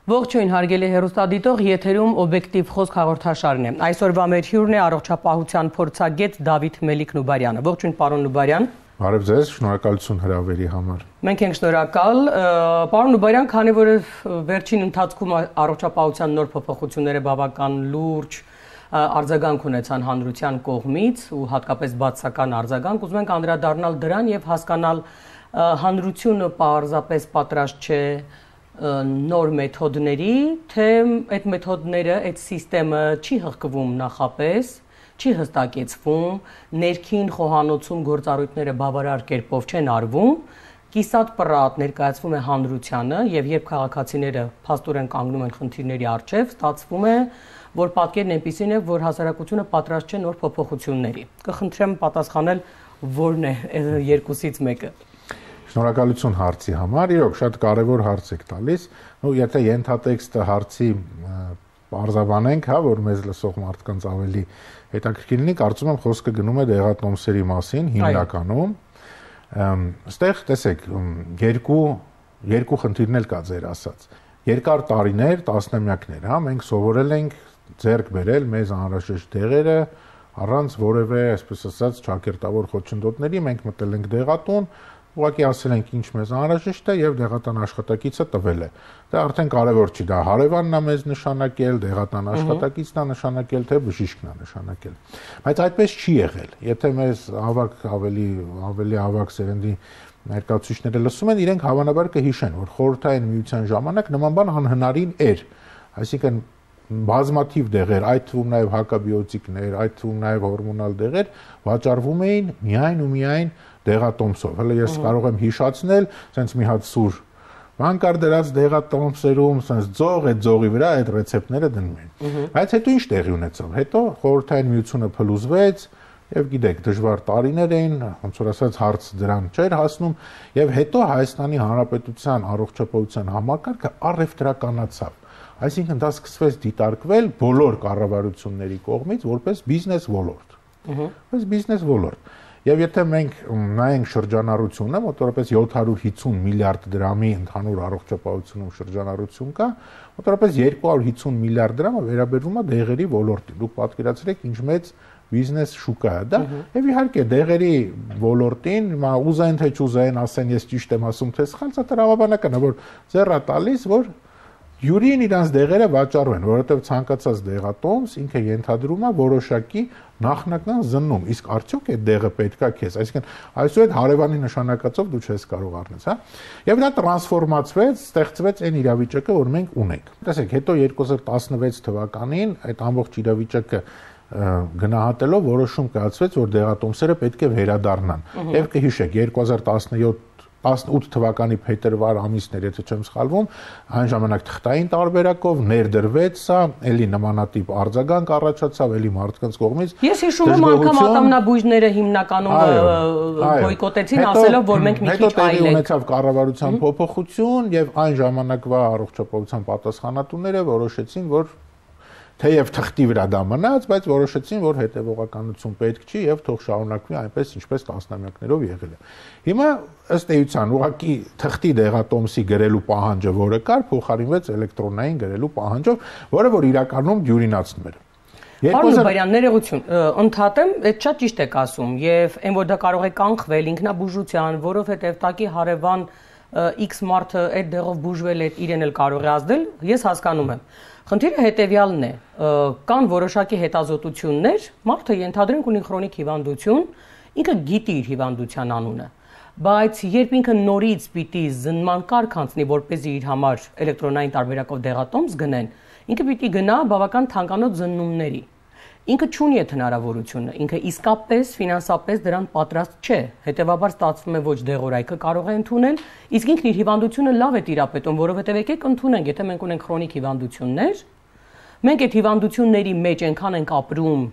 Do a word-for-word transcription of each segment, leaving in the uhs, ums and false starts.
Ողջույն հարգելի հեռուստադիտող, եթերում օբյեկտիվ խոսք հաղորդաշարն է։ Այսօրվա մեր հյուրն է առողջապահության փորձագետ Դավիթ Մելիք-Նուբարյանը։ Ողջույն պարոն Նուբարյան։ Բարև ձեզ, շնորհակալություն հրավերի համար։ Մենք ենք շնորհակալ, պարոն Նուբարյան, քանի որ վերջին ընթացքում առողջապահության նոր փոփոխությունները բավական լուրջ արձագանք ունեցան հանրության կողմից ու հատկապես բացական արձագանք, ուզում ենք անդրադառնալ դրան եւ հասկանալ հանրությունը պարզապես պատրաստ չէ նոր մեթոդների, թե այդ մեթոդները, այդ սիստեմը չի հղկվում նախապես, չի հստակեցվում, ներքին խոհանոցում գործառույթները բավարար կերպով չեն արվում, կիսատ պռատ ներկայացվում է հանրությանը եւ երբ քաղաքացիները փաստորեն կանգնում են խնդիրների առջեւ, ստացվում է, որ պատկերն այնպիսին է, որ հասարակությունը պատրաստ չէ նոր փոփոխությունների։ Կխնդրեմ պատասխանել որն է երկուսից մեկը։ Շնորհակալություն հարցի համար, իրոք շատ կարևոր հարց եք տալիս, ու եթե ենթատեքստը հարցի պարզաբանենք, հա, որ մեզ լսող մարդկանց ավելի հետաքրքիր լինի, կարծում եմ խոսքը գնում է դեղատոմսերի մասին, հիմնականում։ Այստեղ տեսեք, երկու երկու խնդիրներ կա ձեր ասած։ Երկար տարիներ, տասնամյակներ, հա, մենք սովորել ենք ձեռք բերել մեզ անհրաժեշտ դեղերը առանց որևէ, այսպես ասած, ճակերտավոր խոչընդոտների, մենք մտել ենք դեղատուն, ուղղակի ասել ենք ինչ մեզ անհրաժեշտ է եւ դեղատան աշխատակիցը տվել է։ Դա արդեն կարևոր չի, դա հարևանն է մեզ նշանակել, դեղատան աշխատակիցն է նշանակել, թե բժիշկն է նշանակել։ Բայց այդպես չի եղել։ Եթե մեզ ավակ ավելի ավելի ավակ սերնդի ներկայացուցիչները լսում են, իրենք հավանաբար կհիշեն, որ խորհրդային միության ժամանակ նման բան անհնարին էր։ Այսինքն բազմաթիվ դեղեր, այդ թվում նաև հակաբիոտիկներ, այդ թվում նաև հորմոնալ դեղեր վաճառվում էին միայն ու միայն դեղատոմսով։ Հələ ես կարող եմ հիշացնել, sense մի հատ սուր բան կար դրած դեղատոմսերում, sense ձող, այդ ձողի վրա այդ ռեցեպտները դնում էին։ Բայց հետո ինչ տեղի ունեցավ։ Հետո խորհրդային միությունը փլուզվեց եւ գիտեք, դժվար տարիներ էին, ոնց որ ասած հարց դրան չէր հասնում, եւ հետո Հայաստանի Հանրապետության առողջապահության համակարգը առևտրականացավ։ Այսինքն դա սկսվեց դիտարկվել բոլոր կառավարությունների կողմից որպես բիզնես ոլորտ։ Որպես բիզնես ոլորտ։ Եվ եթե մենք նայենք շրջանառությունը, մոտավորապես յոթ հարյուր հիսուն միլիարդ դրամի ընդհանուր առողջապահությունում շրջանառություն կա, մոտավորապես երկու հարյուր հիսուն միլիարդ դրամը վերաբերվում է դեղերի ոլորտին։ Դուք պատկերացրեք ինչ մեծ բիզնես շուկա է դա, եւ իհարկե դեղերի ոլորտին, հիմա ուզեն թե չուզեն, ասեն ես ճիշտ եմ ասում, թե սխալ, դա տրավաբանական է, որ ձեռա տալիս, որ յուրին իրանց դեղերը վաճառվեն, որովհետև ցանկացած դեղատոմս ինքը ենթադրում է որոշակի նախնական զննում, իսկ արդյոք այդ դեղը պետքա քեզ, այսինքն այսօր այդ հարևանի նշանակածով դու չես կարող առնես, հա։ Եվ դա տրանսֆորմացվեց, ստեղծվեց այն իրավիճակը, որ մենք ունենք։ Տեսեք, հետո երկու հազար տասնվեց թվականին այդ ամբողջ իրավիճակը գնահատելով որոշում կայացվեց, որ դեղատոմսերը պետք է վերադառնան։ Եվ կհիշեք, երկու հազար տասնյոթ տասնութ թվականի փետրվար ամիսներ, եթե չեմ սխալվում, այն ժամանակ թղթային տարբերակով ներդրվեց սա, էլի նմանատիպ արձագանք առաջացավ, էլի մարդկանց կողմից։ Ես հիշում եմ անգամ ատամնաբույժները հիմնականում բոյկոտեցին, ասելով, որ մենք մի քիչ այլ ենք։ Հետո տեղի ունեցավ կառավարության փոփոխություն եւ այն ժամանակվա առողջապահության պատասխանատուները որոշեցին, որ թեև թղթի վրա դա մնաց, բայց որոշեցին, որ հետևողականություն պետք չի եւ թող շարունակվի այնպես, ինչպես տասնամյակներով եղել է։ Հիմա ըստ էության ուղղակի թղթի դեղատոմսի գրելու պահանջը, որը կար, փոխարինվեց էլեկտրոնային գրելու պահանջով, որը որ իրականում դյուրինացնում էր։ Պարոն Նուբարյան, ներողություն, ընդհատեմ, այդ շատ ճիշտ եք ասում եւ այն որ դա կարող է կանխվել ինքնաբուժության, որովհետեւ տակի հարևան X մարդը այդ դեղով բուժվել է, իրեն էլ կարող է ազդել, ես հասկանում եմ։ Խնդիրը հետևյալն է, կան որոշակի հետազոտություններ, մարդը ենթադրենք ունի քրոնիկ հիվանդություն, ինքը գիտի իր հիվանդության անունը, բայց երբ ինքը նորից պիտի զննման կարգ անցնի, որպեսզի իր համար էլեկտրոնային տարբերակով դեղատոմս գնեն, ինքը պիտի գնա բավական թանկանոց զննումների։ Ինքը չունի այդ հնարավորությունը, ինքը իսկապես ֆինանսապես դրան պատրաստ չէ, հետևաբար ստացվում է ոչ դեղորայքը կարող է ընդունել, իսկ ինքն իր հիվանդությունը լավ է տիրապետում, որովհետև եկեք ընդունենք, եթե մենք ունենք քրոնիկ հիվանդություններ, մենք այդ հիվանդությունների մեջ այնքան ենք ապրում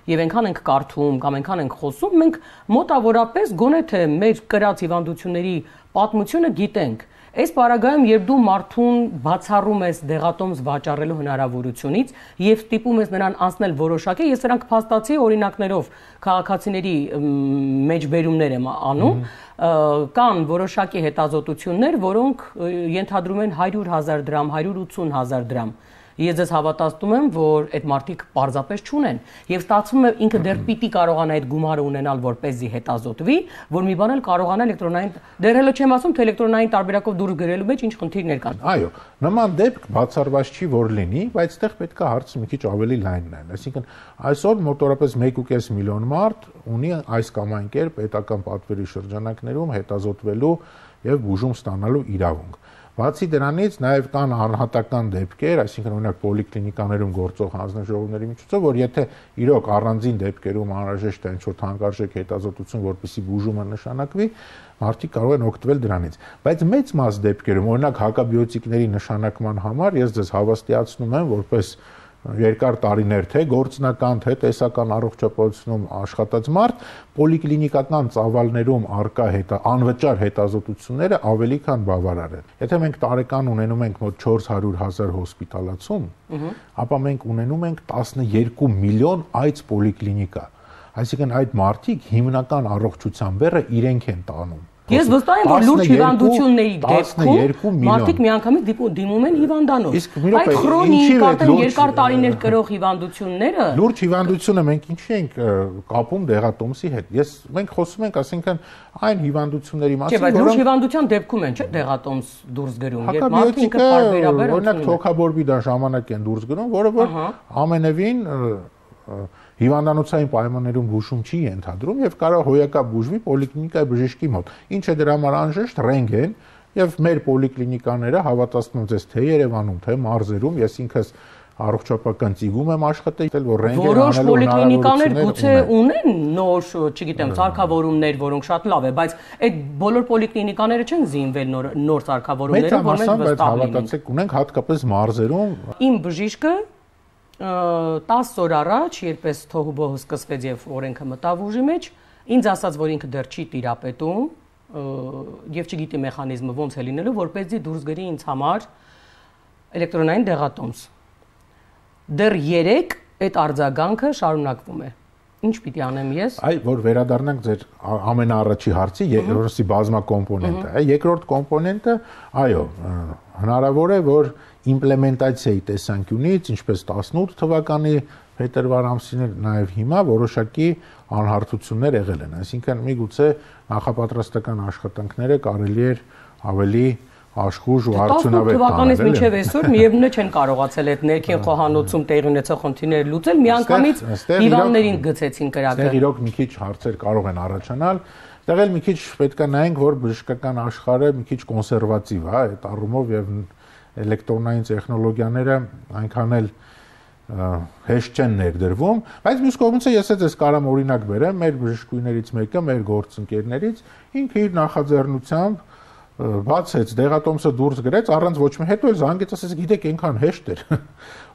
եւ այնքան ենք կարդում կամ այնքան ենք խոսում, մենք մոտավորապես գոնե թե մեր կրած հիվանդությունների պատմությունը գիտենք։ Այս պարագայում, երբ դու մարդուն բացառում ես դեղատոմս վաճառելու հնարավորությունից եւ ստիպում ես նրան անցնել որոշակի, ես սրանք փաստացի օրինակներով քաղաքացիների մեջբերումներ եմ անում, կան որոշակի հետազոտություններ, որոնք ենթադրում են հարյուր հազար դրամ, հարյուր ութուն հազար դրամ։ Ես ձեզ հավատացնում եմ, որ այդ մարդիկ պարզապես չունեն եւ ստացվում է ինքը դեռ պիտի կարողանա այդ գումարը ունենալ որպեսզի հետազոտվի, որ մի բան էլ կարողանա էլեկտրոնային դեռ հələ չեմ ասում, թե էլեկտրոնային տարբերակով դուրս գրելու մեջ ինչ խնդիրներ կան։ Այո, նման դեպք բացառված չի որ լինի, բայց այդտեղ պետք է հարցը մի քիչ ավելի լայն նայել։ Այսինքն այսօր մոտավորապես մեկ ու կես միլիոն մարդ ունի այս կամ այն կերպ պետական պատվերի շրջանակներում հետազոտվելու եւ բուժում ստանալու իրավունք։ Բացի դրանից նաև կան անհատական դեպքեր, այսինքն օրինակ պոլիկլինիկաներում գործող հանձնաժողովների միջոցով, որ եթե իրոք առանձին դեպքերում անհրաժեշտ է ինչ-որ թանկարժեք հետազոտություն, որպեսզի բուժումը նշանակվի, մարդիկ կարող են օգտվել դրանից։ Բայց մեծ մաս դեպքերում, օրինակ հակաբիոտիկների նշանակման համար ես ձեզ հավաստիացնում եմ, որպես երկար տարիներ թե գործնական, թե տեսական առողջապահությունում աշխատած մարդ, պոլիկլինիկական ծավալներում արկա հետա անվճար հետազոտությունները ավելի քան բավարար են։ Եթե մենք տարեկան ունենում ենք մոտ չորս հարյուր հազար հոսպիտալացում, ապա մենք ունենում ենք տասնյոթ միլիոն այց պոլիկլինիկա։ Այսինքն այդ մարդիկ հիմնական առողջության բեռը իրենք են տանում։ Ես վստահ եմ, որ լուրջ հիվանդությունների դեպքում մարդիկ միանգամից դիմում են հիվանդանոց։ Այդ քրոնիկ արդեն երկար տարիներ կրող հիվանդությունները լուրջ հիվանդությունը մենք ինչի ենք կապում դեղատոմսի հետ։ Ես մենք խոսում ենք, ասենքն այն հիվանդությունների մասին, որոնք լուրջ հիվանդության դեպքում են, չէ՞, դեղատոմս դուրս գրում։ Երբ մարդը ինքը պարբերաբար օրինակ թոքաբորբիդա ժամանակ են դուրս գրում, որը որ ամենևին հիվանդանոցային պայմաններում բուժում չի ենթադրում եւ կարող հոյակա բուժվի պոլիկլինիկայի բժշկի մոտ։ Ինչ է դրա համար անհրաժեշտ ռենտգեն եւ մեր պոլիկլինիկաները հավատացնում եմ ձեզ թե Երևանում, թե մարզերում, ես ինքս առողջապահական ծիգում եմ աշխատել, որ ռենտգեն անելու պոլիկլինիկաներ գուցե ունեն նոր, չգիտեմ, սարքավորումներ, որոնք շատ լավ է, բայց այդ բոլոր պոլիկլինիկաները չեն զինվել նոր նոր սարքավորումներով, որ մենք վստահ ենք։ Հավատացեք, ունենք հատկապես մարզերում։ Իմ բժիշկը տասը օր առաջ, երբ էս թոհուբոհը սկսվեց եւ օրենքը մտավ ուժի մեջ, ինձ ասաց, որ ինքը դեռ չի տիրապետում եւ չգիտի մեխանիզմը ոնց է լինելու, որպեսզի դուրս գրի ինձ համար էլեկտրոնային դեղատոմս։ Դեռ երեք այդ արձագանքը շարունակվում է։ Ինչ պիտի անեմ ես։ Այ որ վերադառնանք ձեր ամենաառաջի հարցի, երրորդի բազմակոմպոնենտը, այ երկրորդ կոմպոնենտը, այո, հնարավոր է, որ իմպլեմենտացիայի տեսանկյունից, ինչպես տասնութ թվականի փետրվար ամսին նաև հիմա որոշակի անհարթություններ եղել են, այսինքն միգուցե նախապատրաստական աշխատանքները կարելի էր ավելի աշխուժ ու արդյունավետ տասնութ թվականից մինչև այսօր միևնույն է չեն կարողացել այդ ներքին խոհանոցում տեղի ունեցող խնդիրները լուծել, միանգամից հիվանդներին գցեցին կրակը։ Այստեղ իրոք մի քիչ հարցեր կարող են առաջանալ, այստեղ էլ մի քիչ պետք է նայենք, որ բժշկական աշխարհը մի քիչ կոնսերվատիվ է այդ առումով եւ էլեկտրոնային տեխնոլոգիաները այնքան էլ հեշտ չեն ներդրվում, բայց մյուս կողմից ես ես կարամ օրինակ բերեմ, մեր բժշկուհիներից մեկը, մեր գործընկերներից, ինքը իր նախաձեռնությամբ բացեց դեղատոմսը դուրս գրեց առանց ոչ մի հետո էլ զանգեց, ասեց, գիտեք, այնքան հեշտ էր։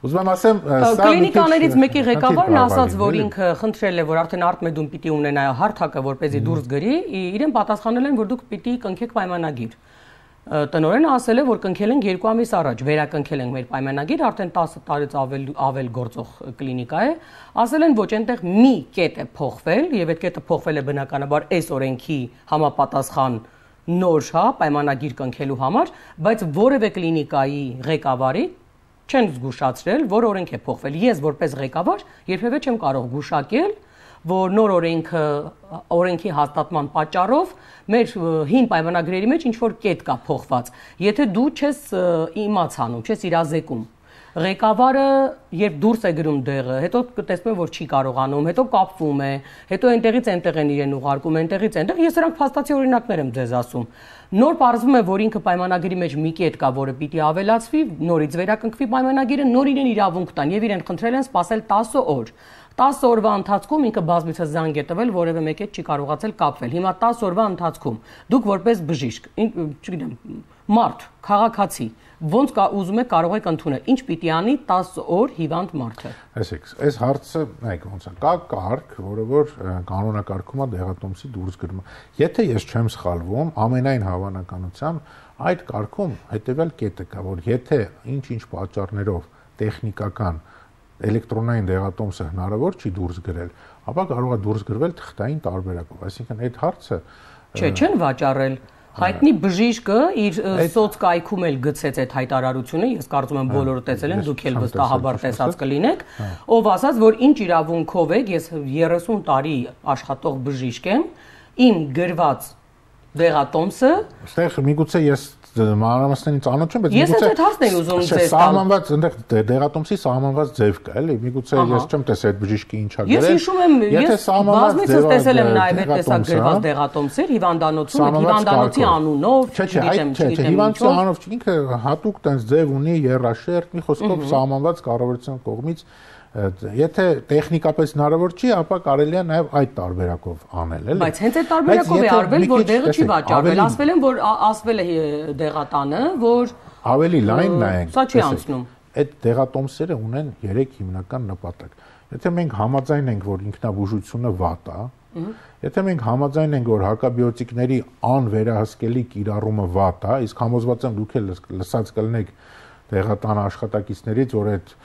Ուզում եմ ասեմ, սա կլինիկաներից մեկի ղեկավարն ասաց, որ ինքը խնդրել է, որ արդեն արտմեդում պիտի ունենա հարթակը, որպեսզի դուրս գրի, իրեն պատասխանել են, որ դուք պիտի կնքեք պայմանագիր։ Տնօրենը ասել է, որ կնքել ենք երկու ամիս առաջ, վերակնքել ենք մեր պայմանագիր, արդեն տասը տարից ավել ավել գործող կլինիկա է, ասել են, ոչ այնտեղ մի կետ է փոխվել, եւ այդ կետը փոխվել է բնականաբար այս օրենքի համապատասխան նոր հա պայմանագիր կնքելու համար, բայց որևէ կլինիկայի ղեկավարի չեն զգուշացրել, որ օրենք է փոխվել։ Ես որպես ղեկավար երբևէ չեմ կարող գուշակել, որ նոր օրենքը օրենքի հաստատման պատճառով մեր հին պայմանագրերի մեջ ինչ որ կետ կա փոխված։ Եթե դու չես իմացանում, չես իրազեկում, ղեկավարը երբ դուրս է գրում դեղը, հետո տեսնում է, որ չի կարողանում, հետո կապվում է, հետո այնտեղից այնտեղ են իրեն ուղարկում, այնտեղից այնտեղ, ես սրանք փաստացի օրինակներ եմ ձեզ ասում։ Նոր պարզվում է, որ ինքը պայմանագրի մեջ մի կետ կա, որը պիտի ավելացվի, նորից վերակնքվի պայմանագիրը, նոր իրեն իրավունք տան եւ իրեն խնդրել են սպասել տասը օր։ տասը օրվա ընթացքում ինքը բազմիցս զանգ է տվել, որևէ մեկի հետ չի կարողացել կապվել։ Հիմա տասը օրվա ընթացքում դուք որպես բժիշկ, չգիտեմ, մարդ, քաղաքացի, ոնց կա ուզում եք կարող եք ընդունել, ինչ պիտի անի տասը օր հիվանդ մարդը։ Այսինքն, այս հարցը, նայեք ոնց է, կա կարգ, որը որ կանոնակարգում է դեղատոմսի դուրս գրումը։ Եթե ես չեմ սխալվում, ամենայն հավանականությամբ այդ կարգում հետևյալ կետը կա, որ եթե ինչ-ինչ պատճառներով տեխնիկական էլեկտրոնային դեղատոմսը հնարավոր չի դուրս գրել, ապա կարող է դուրս գրվել թղթային տարբերակով։ Այսինքն այդ հարցը Չէ, չեն վաճառել։ Հայտնի բժիշկը իր սոցկայքում էլ գցեց այդ հայտարարությունը, ես կարծում եմ բոլորը տեսել են, դուք էլ վստահաբար տեսած կլինեք, ով ասաց, որ ինչ իրավունքով եք, ես երեսուն տարի աշխատող բժիշկ եմ, իմ գրված դեղատոմսը, այստեղ միգուցե ես մանրամասներին ծանոթ չեմ, բայց ես այդ հարցն եմ ուզում ձեզ տալ։ Սահմանված այնտեղ դեղատոմսի սահմանված ձև կա, էլի, միգուցե ես չեմ տեսել այդ բժիշկի ինչա գրել։ Ես հիշում եմ, ես բազմիցս տեսել եմ նաև այդ տեսակ գրված դեղատոմսեր հիվանդանոցում, հիվանդանոցի անունով, չգիտեմ, չէ, հիվանդանոցի անունով ինքը հատուկ տենց ձև ունի, երաշերտ, մի խոսքով սահմանված կառավարության կողմից Եթե տեխնիկապես հնարավոր չի, ապա կարելի է նաև այդ տարբերակով անել, էլի։ Բայց հենց այդ տարբերակով է արվել, որ դեղը չի վաճառվել, ասվել են, որ ասվել է դեղատանը, որ ավելի լայն նայենք։ Սա չի անցնում։ Այդ դեղատոմսերը ունեն երեք հիմնական նպատակ։ Եթե մենք համաձայն ենք, որ ինքնաբուժությունը վատ է, եթե մենք համաձայն ենք, որ հակաբիոտիկների անվերահսկելի կիրառումը վատ է, իսկ համոզված եմ դուք էլ լսած կլինեք դեղատան աշխատակիցներից, որ այդ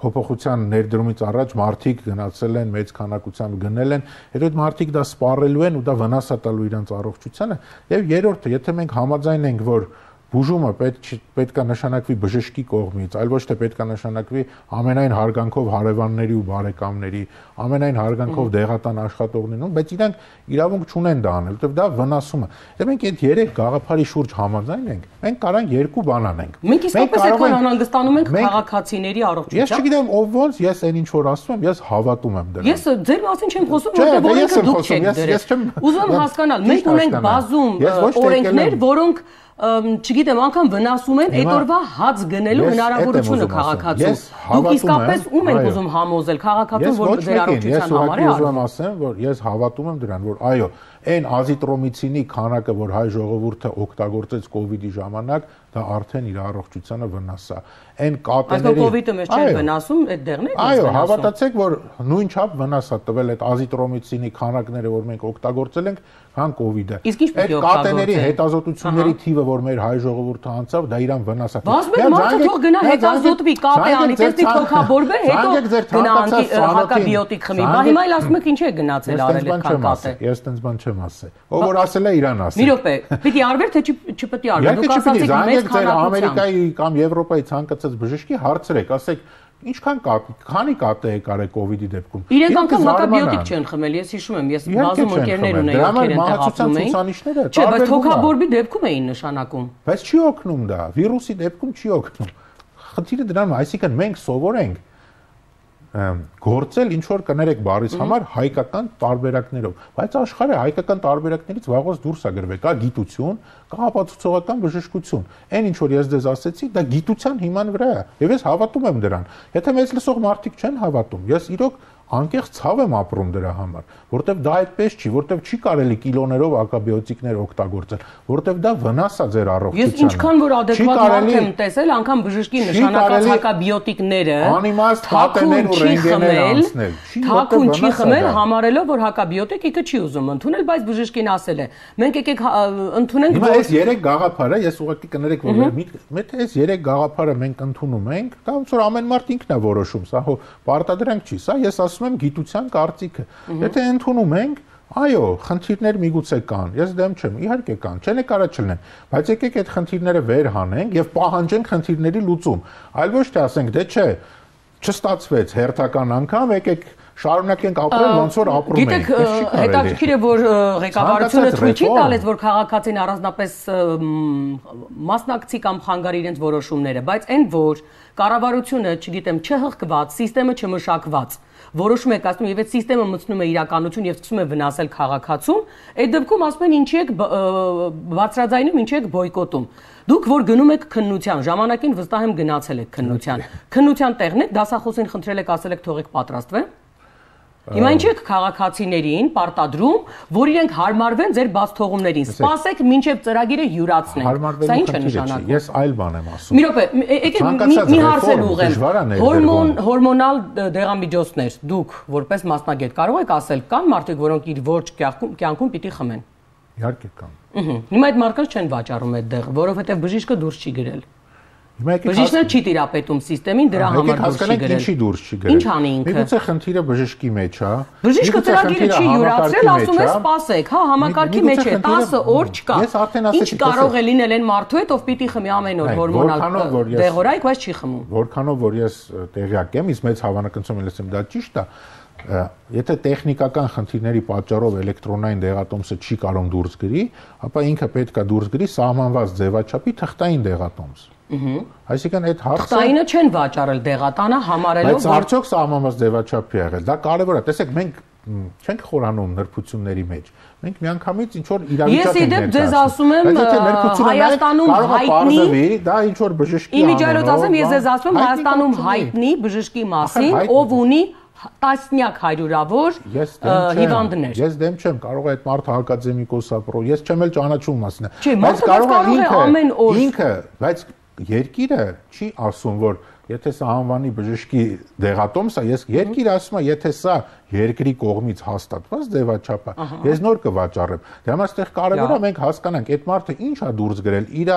փոփոխության ներդրումից առաջ մարդիկ գնացել են մեծ քանակությամբ գնել են, հետո այդ մարդիկ դա սպառելու են ու դա վնաս է տալու իրենց առողջությանը, եւ երրորդը, եթե մենք համաձայն ենք, որ բուժումը պետք պետք է նշանակվի բժշկի կողմից, այլ ոչ թե պետք է նշանակվի ամենայն հարգանքով հարևանների ու բարեկամների, ամենայն հարգանքով դեղատան աշխատողներին, բայց իրանք իրավունք չունեն դա անել, որովհետև դա վնասում է։ Եթե մենք այդ երեք գաղափարի շուրջ համաձայն ենք, մենք կարանք երկու բան անենք։ Մենք իսկապես այդքան անհանգստանում ենք քաղաքացիների առողջությամբ։ Ես չգիտեմ ով ոնց, ես այն ինչ որ ասում եմ, ես հավատում եմ դրան։ Ես ձեր մասին չեմ խոսում, որտեղ օրենքը դուք չեք դրել։ Ուզում եմ հասկանալ, մենք ունենք բազում օրենքներ, որոնք չգիտեմ, անգամ վնասում են այդ օրվա հաց գնելու հնարավորությունը քաղաքացու։ Դուք իսկապես ում եք ուզում համոզել քաղաքացուն, որ ձեր առողջության համար է արվում։ Ես ուզում ասեմ, որ ես հավատում եմ դրան, որ այո, այն ազիտրոմիցինի քանակը, որ հայ ժողովուրդը օգտագործեց կովիդի ժամանակ, դա արդեն իր առողջությանը վնաս է։ Այն կատեների Այսինքն կովիդը մեզ չէ վնասում, այդ դեղն է վնասում։ Այո, հավատացեք, որ նույն չափ վնաս է տվել այդ ազիտրոմիցինի քանակները, որ մենք օգտագործել ենք, քան կովիդը։ Այդ կատեների հետազոտությունների թիվը, որ մեր հայ ժողովուրդը անցավ, դա իրան վնաս է։ Բազմիցս մարդը թող գնա հետազոտվի, կապ է անի, տեսնի թոքաբորբը, հետո գնա անկի հակաբիոտիկ խմի։ Բա հիմա էլ ասում եք ինչ է գնացել արել այդքան կատե։ Ես տենց բան չեմ ասել։ Ով որ ասել է իրան ասել։ Մի րոպե, պիտի արվեր թե չպիտի արվեր։ Դուք ասացիք մեծ քանակությամբ։ Ամերիկայի կամ Եվրոպայի ցանկացած բժշկի հարցրեք, ասեք, ինչքան քանի կատե եք արել կովիդի դեպքում։ Իրենք անգամ հակաբիոտիկ չեն խմել, ես հիշում եմ, ես բազում ընկերներ ունեի, ովքեր այնտեղ ապրում էին։ Չէ, բայց թոքաբորբի դեպքում էին նշանակում։ Բայց չի օգնում դա, վիրուսի դեպքում չի օգնում։ Խնդիրը դրանում է, այսինքն մենք սովոր ենք գործել ինչ որ կներեք բարիս համար հայկական տարբերակներով, բայց աշխարհը հայկական տարբերակներից վաղուց դուրս է գրվել, կա գիտություն, կա ապացուցողական բժշկություն։ Այն ինչ որ ես դες ասեցի, դա գիտության հիման վրա է, եւ ես հավատում եմ դրան։ Եթե մեծ լսող մարդիկ չեն հավատում, ես իրոք անկեղծ ցավ եմ ապրում դրա համար, որտեվ դա այդպես չի, որտեվ չի կարելի կիլոներով ակաբիոտիկներ օգտագործել, որտեվ դա վնաս է ձեր առողջությանը։ Ես ինչքան որ adekvat մարդ եմ տեսել, անգամ բժշկի նշանակած հակաբիոտիկները անիմաստ կատեներ ու ռենտգեներ անցնել։ Թաքուն չի խմել, համարելով որ հակաբիոտիկ ինքը չի ուզում ընդունել, բայց բժշկին ասել է։ Մենք եկեք ընդունենք, որ այս երեք գաղափարը, ես ուղղակի կներեք, որ միտքը այս երեք գաղափարը մենք ընդունում ենք, դա ոնց որ ամեն մարդ ինքն է որոշում, սա հո պարտադրանք չի, սա ես ասում եմ գիտության կարծիքը։ Եթե ընդունում ենք, այո, խնդիրներ միգուցե կան։ Ես դեմ չեմ, իհարկե կան, չեն կարա չլինեն, բայց եկեք այդ խնդիրները վեր հանենք եւ պահանջենք խնդիրների լուծում։ Այլ ոչ թե ասենք, դե չէ, չստացվեց հերթական անգամ, եկեք շարունակենք ապրել ոնց որ ապրում ենք։ Գիտեք, հետաքրքիր է, որ ղեկավարությունը թույլ չի տալիս, որ քաղաքացին առանձնապես մասնակցի կամ խանգարի իրենց որոշումները, բայց այն որ կառավարությունը, չգիտեմ, չհղկված, համակարգը չմշակված, որոշում եք ասում եւ այդ համակարգը մտնում է իրականություն եւ սկսում է վնասել քաղաքացուն, այդ դեպքում ասում են ինչի եք բարձրաձայնում, ինչի եք բոյկոտում։ Դուք որ գնում եք քննության, ժամանակին վստահ եմ գնացել եք քննության։ Քննության տեղն եք, դասախոսին խնդրել եք, ասել եք թողեք պատրաստվեն։ Հիմա ինչ եք քաղաքացիներին պարտադրում, որ իրենք հարմարվեն ձեր բացթողումներին։ Սպասեք մինչև ծրագիրը յուրացնեն։ Սա ինչ է նշանակում։ Ես այլ բան եմ ասում։ Մի րոպե, եկեք մի հարց էլ ուղղեմ։ Հորմոն հորմոնալ դեղամիջոցներ դուք որպես մասնագետ կարող եք ասել կան մարդիկ, որոնք իր ոչ կյանքում պիտի խմեն։ Իհարկե կան։ Հիմա այդ մարդկանց չեն վաճառում այդ դեղը, որովհետև բժիշկը դուրս չի գրել։ Բժիշկն չի տիրապետում համակարգին, դրա համար դուրս չի գրել։ Ինչի դուրս չի գրել։ Ինչ անի ինքը։ Միգուցե խնդիրը բժշկի մեջ է։ Բժիշկը ծրագիրը չի յուրացրել, ասում է սպասեք, հա, համակարգի մեջ է, տասը օր չկա։ Ինչ կարող է լինել այն մարդու հետ, ով պիտի խմի ամեն օր հորմոնալ դեղորայք, բայց չի խմում։ Որքանով որ ես տեղյակ եմ, իսկ մեծ հավանականությամբ եմ լսեմ դա ճիշտ է, եթե տեխնիկական խնդիրների պատճառով էլեկտրոնային դեղատոմսը չի կարող դուրս գրի, ապա ինքը պետք է դուրս գրի սահմանված ձևաչափի թղթային դեղատոմս։ Այսինքն այդ հարցը թղթայինը չեն վաճառել դեղատանը համարելով բայց արդյոք սահմանված ձևաչափի է եղել։ Դա կարևոր է։ Տեսեք, մենք չենք խորանում նրբությունների մեջ։ Մենք միանգամից ինչ որ իրավիճակ ենք ներկայացնում։ Ես իդեպ ձեզ ասում եմ Հայաստանում հայտնի, դա ինչ որ բժշկի Իմիջիայլոց ասեմ, ես ձեզ ասում եմ Հայաստանում հայտնի բժշկի մասին, ով ունի տասնյակ հարյուրավոր հիվանդներ։ Ես դեմ չեմ, կարող է այդ մարդը ակադեմիկոս ապրո, ես չեմ էլ ճանաչում մասն։ Բայց կարող է ամեն օր ինքը, բայց երկիրը չի ասում, որ եթե սա անվանի բժշկի դեղատոմս է, ես երկիրը ասում է, եթե սա երկրի կողմից հաստատված ձևաչափ է, ես նոր կվաճառեմ։ Դե համար այստեղ կարևոր է մենք հասկանանք, այդ մարդը ինչ է դուրս գրել, իր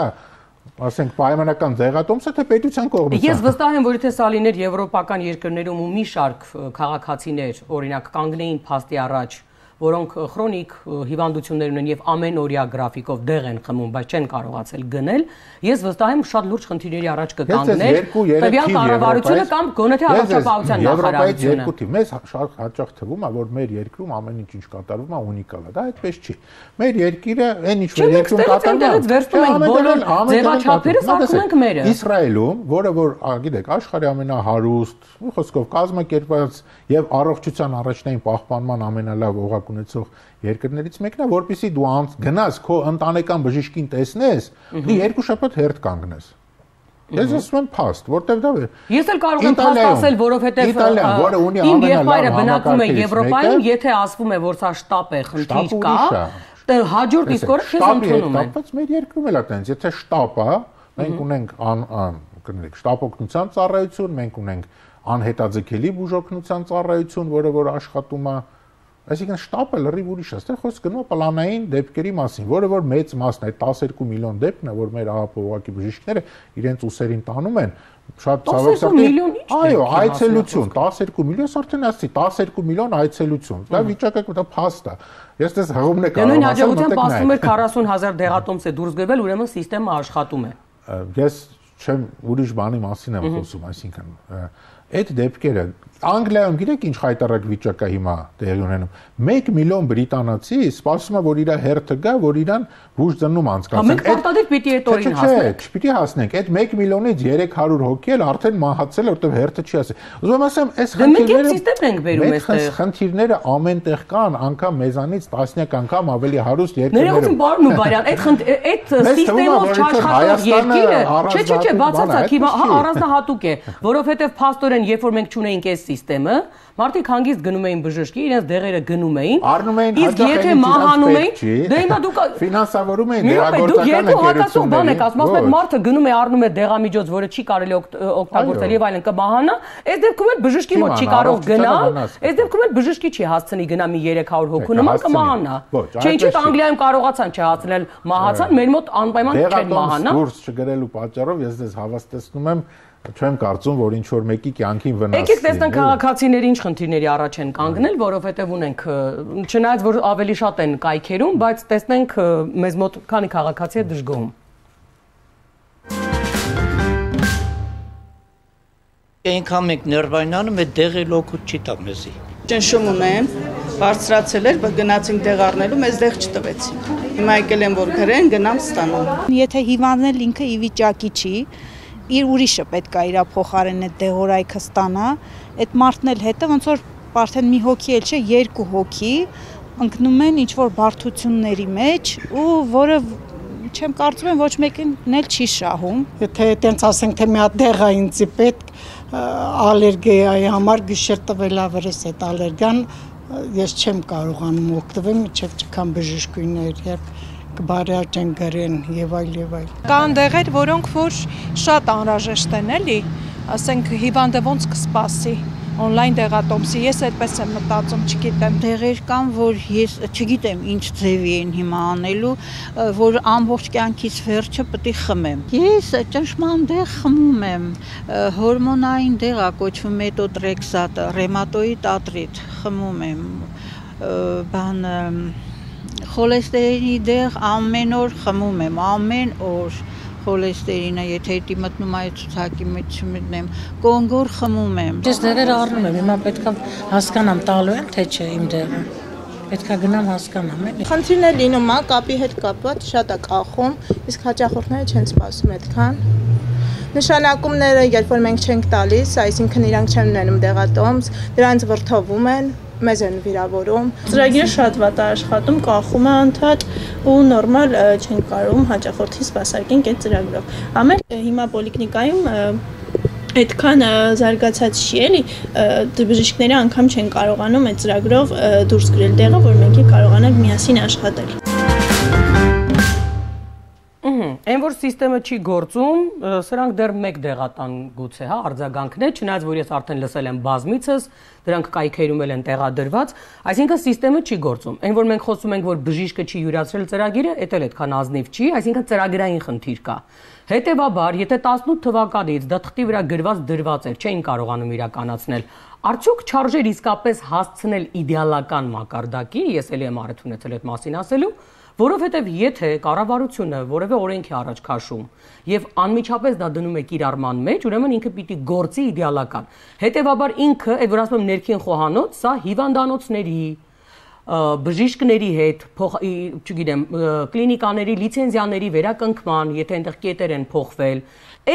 ասենք պայմանական դեղատոմսը թե պետության կողմից։ Ես վստահ եմ, որ եթե սա լիներ եվրոպական երկրներում ու մի շարք քաղաքացիներ, օրինակ, կանգնեին փաստի առաջ, որոնք քրոնիկ հիվանդություններ ունեն եւ ամենօրյա գրաֆիկով դեղ են խմում, բայց չեն կարողացել գնել, ես վստահ եմ շատ լուրջ խնդիրների առաջ կկանգներ տվյալ կառավարությունը կամ գոնե թե առողջապահության նախարարությունը։ Մեզ շատ հաճախ թվում է, որ մեր երկրում ամեն ինչ ինչ կատարվում է ունիկալ է, դա այդպես չի։ Մեր երկիրը այն ինչ որ երկրում կատարվում է, բոլոր ձևաչափերը սարքում ենք մերը։ Իսրայելում, որը որ, գիտեք, աշխարհի ամենահարուստ, խոսքով կազմակերպված եւ առողջության առաջնային պահպանման ամենալավ օղակ ունեցող երկրներից մեկն է, որպեսզի դու գնաս քո ընտանեկան բժիշկին տեսնես, դու երկու շաբաթ հերթ կանգնես։ Ես ասում եմ փաստ, որտեվ դա է։ Ես էլ կարող եմ փաստ ասել, որովհետև իմ եղբայրը բնակվում է Եվրոպայում, եթե ասվում է, որ սա շտապ է, խնդիր կա, հաջորդ իսկ օրը քեզ ընդունում են։ Բայց մեր երկրում էլ է տենց, եթե շտապ է, մենք ունենք կներեք, շտապ օգնության ծառայություն, մենք ունենք անհետաձգելի բուժօգնության ծառայություն, որը որ աշխատում է։ Այսինքն շտապը լրիվ ուրիշ է, այստեղ խոսքը գնում է պլանային դեպքերի մասին, որը որ մեծ մասն է, տասներկու միլիոն դեպքն է, որ մեր ԱԱՊ-ովակի բժիշկները իրենց ուսերին տանում են, շատ ցավոք այո, այցելություն, տասներկու միլիոն, արդեն ասեցի, տասներկու միլիոն այցելություն, դա վիճակը դա փաստ է։ Ես դες հղումն է կարող ասել, նույն հաջողությամբ ասում էր քառասուն հազար դեղատոմս է դուրս գրվել, ուրեմն համակարգը աշխատում է։ Ես չեմ ուրիշ բանի մասին եմ խոսում, այսինքն այդ դեպքերը Անգլիայում գիտեք ինչ խայտարակ վիճակ է հիմա տեղի ունենում։ մեկ միլիոն բրիտանացի սպասում է, որ իր հերթը գա, որ իրան բուժ ծննում անցկացնեն։ Մենք պարտադիր պիտի այդ օրին հասնենք։ Չպիտի հասնենք։ Այդ մեկ միլիոնից երեք հարյուր հոգի էլ արդեն մահացել, որտեղ հերթը չի ասել։ Ուզում եմ ասեմ, այս խնդիրները խնդիրները ամենտեղ կան, անգամ մեզանից տասնյակ անգամ ավելի հարուստ երկրներում։ Ներողություն, բարոն ու բարյան, այդ այդ սիստեմով չաշխատող երկիրը, չէ, չէ, չէ, բացարձակ հիմա առանձնահատուկ է, որովհետև փաստորեն երբ որ մենք չունեինք այս սիստեմը, մարդիկ հանգիստ գնում էին բժշկի, իրենց դեղերը գնում էին, առնում էին, իսկ եթե մահանում էին, դե հիմա դուք ֆինանսավորում էին դեղագործական ընկերություններին։ Ասում եք մարդը գնում է առնում է դեղամիջոց, որը չի կարելի օգտագործել եւ այլն կմահանա, այս դեպքում էլ բժշկի մոտ չի կարող գնալ, այս դեպքում էլ բժշկի չի հասցնի գնա մի երեք հարյուր հոգու նման կմահանա։ Չէ, ինչի՞ Անգլիայում կարողացան չհասցնել, մահացան, մեր մոտ անպայման չեն մահանա։ Դուրս չգրելու պատճառով ես դες հավաստեցնում եմ չեմ կարծում, որ ինչ որ մեկի կյանքին վնաս։ Եկեք տեսնենք քաղաքացիները ինչ խնդիրների առաջ են կանգնել, որովհետև ունենք, չնայած որ ավելի շատ են կայքերում, բայց տեսնենք մեզ մոտ քանի քաղաքացի է դժգոհում։ Այնքան մենք ներվայնանում է դեղի լոկուտ չի տա մեզի։ Ճնշում ունեմ, բարձրացել էր, բայց գնացինք դեղ առնելու, մեզ դեղ չտվեցին։ Հիմա եկել եմ որ գրեն, գնամ ստանամ։ Եթե հիվանդն էլ ինքը ի վիճակի չի, իր ուրիշը պետք է իր փոխարենը դեղորայքը ստանա, այդ մարդն էլ հետը ոնց որ արդեն մի հոգի էլ չէ, երկու հոգի ընկնում են ինչ-որ բարդությունների մեջ ու որը չեմ կարծում եմ ոչ մեկին էլ չի շահում։ Եթե այտենց ասենք թե մի հատ դեղ է ինձի պետք ալերգիայի համար գիշեր տվել ավերես այդ ալերգիան ես չեմ կարողանում օգտվել մինչև չքան բժշկուհիներ երբ կբարյաճեն գրեն եւ այլ եւ այլ։ Կան դեղեր, որոնք որ շատ անհրաժեշտ են էլի, ասենք հիվանդը ոնց կսպասի on-line դեղատոմսի, ես այդպես եմ մտածում, չգիտեմ։ Դեղեր կան, որ ես չգիտեմ ինչ ձևի են հիմա անելու, որ ամբողջ կյանքից վերջը պետք է խմեմ։ Ես ճնշման դեղ խմում եմ, հորմոնային դեղ է կոչվում մետոտրեքսատը, ռեմատոիդ արտրիտ խմում եմ, բան խոլեստերինի դեղ ամեն օր խմում եմ, ամեն օր խոլեստերինը, եթե դի մտնում այդ ցուցակի մեջ չմտնեմ, կոնգոր խմում եմ։ Ես դեղեր առնում եմ, հիմա պետքա հասկանամ տալու եմ, թե չէ իմ դեղը։ Պետքա գնամ հասկանամ, էլի։ Խնդիրն է լինում, հա, կապի հետ կապված շատ է կախում, իսկ հաճախորդները չեն սպասում այդքան։ Նշանակումները, երբ որ մենք չենք տալիս, այսինքն իրանք չեն ունենում դեղատոմս, դրանց վրդովում են, մեզ են վիրավորում։ Ծրագիրը շատ վատ է աշխատում, կախում է անդադ ու նորմալ չեն կարողում հաճախորդի սպասարկենք այդ ծրագրով։ Ամեն հիմա պոլիկլինիկայում այդքան զարգացած չի էլի, բժիշկները անգամ չեն կարողանում այդ ծրագրով դուրս գրել դեղը, որ մենք կարողանանք միասին աշխատել։ Այն որ սիստեմը չի գործում, սրանք դեռ մեկ դեղատան գուցե, հա, արձագանքն է, չնայած որ ես արդեն լսել եմ բազմիցս, դրանք կայքերում էլ են տեղադրված, այսինքն սիստեմը չի գործում։ Այն որ մենք խոսում ենք, որ բժիշկը չի յուրացրել ծրագիրը, դա էլ այդքան ազնիվ չի, այսինքն ծրագրային խնդիր կա։ Հետևաբար, եթե տասնութ թվականից դա թղթի վրա գրված դրված էր, չէին կարողանում իրականացնել, արդյոք չարժեր իսկապես հասցնել իդեալական մակարդակի, ես էլի եմ առիթ ունեցել այդ մասին ասելու, որովհետև եթե կառավարությունը որևէ օրենք է առաջ քաշում եւ անմիջապես դա դնում է կիրառման մեջ, ուրեմն ինքը պիտի գործի իդեալական։ Հետևաբար ինքը, այդ որ ասում եմ ներքին խոհանոց, սա հիվանդանոցների, բժիշկների հետ, չգիտեմ, կլինիկաների լիցենզիաների վերականգնման, եթե այնտեղ կետեր են փոխվել,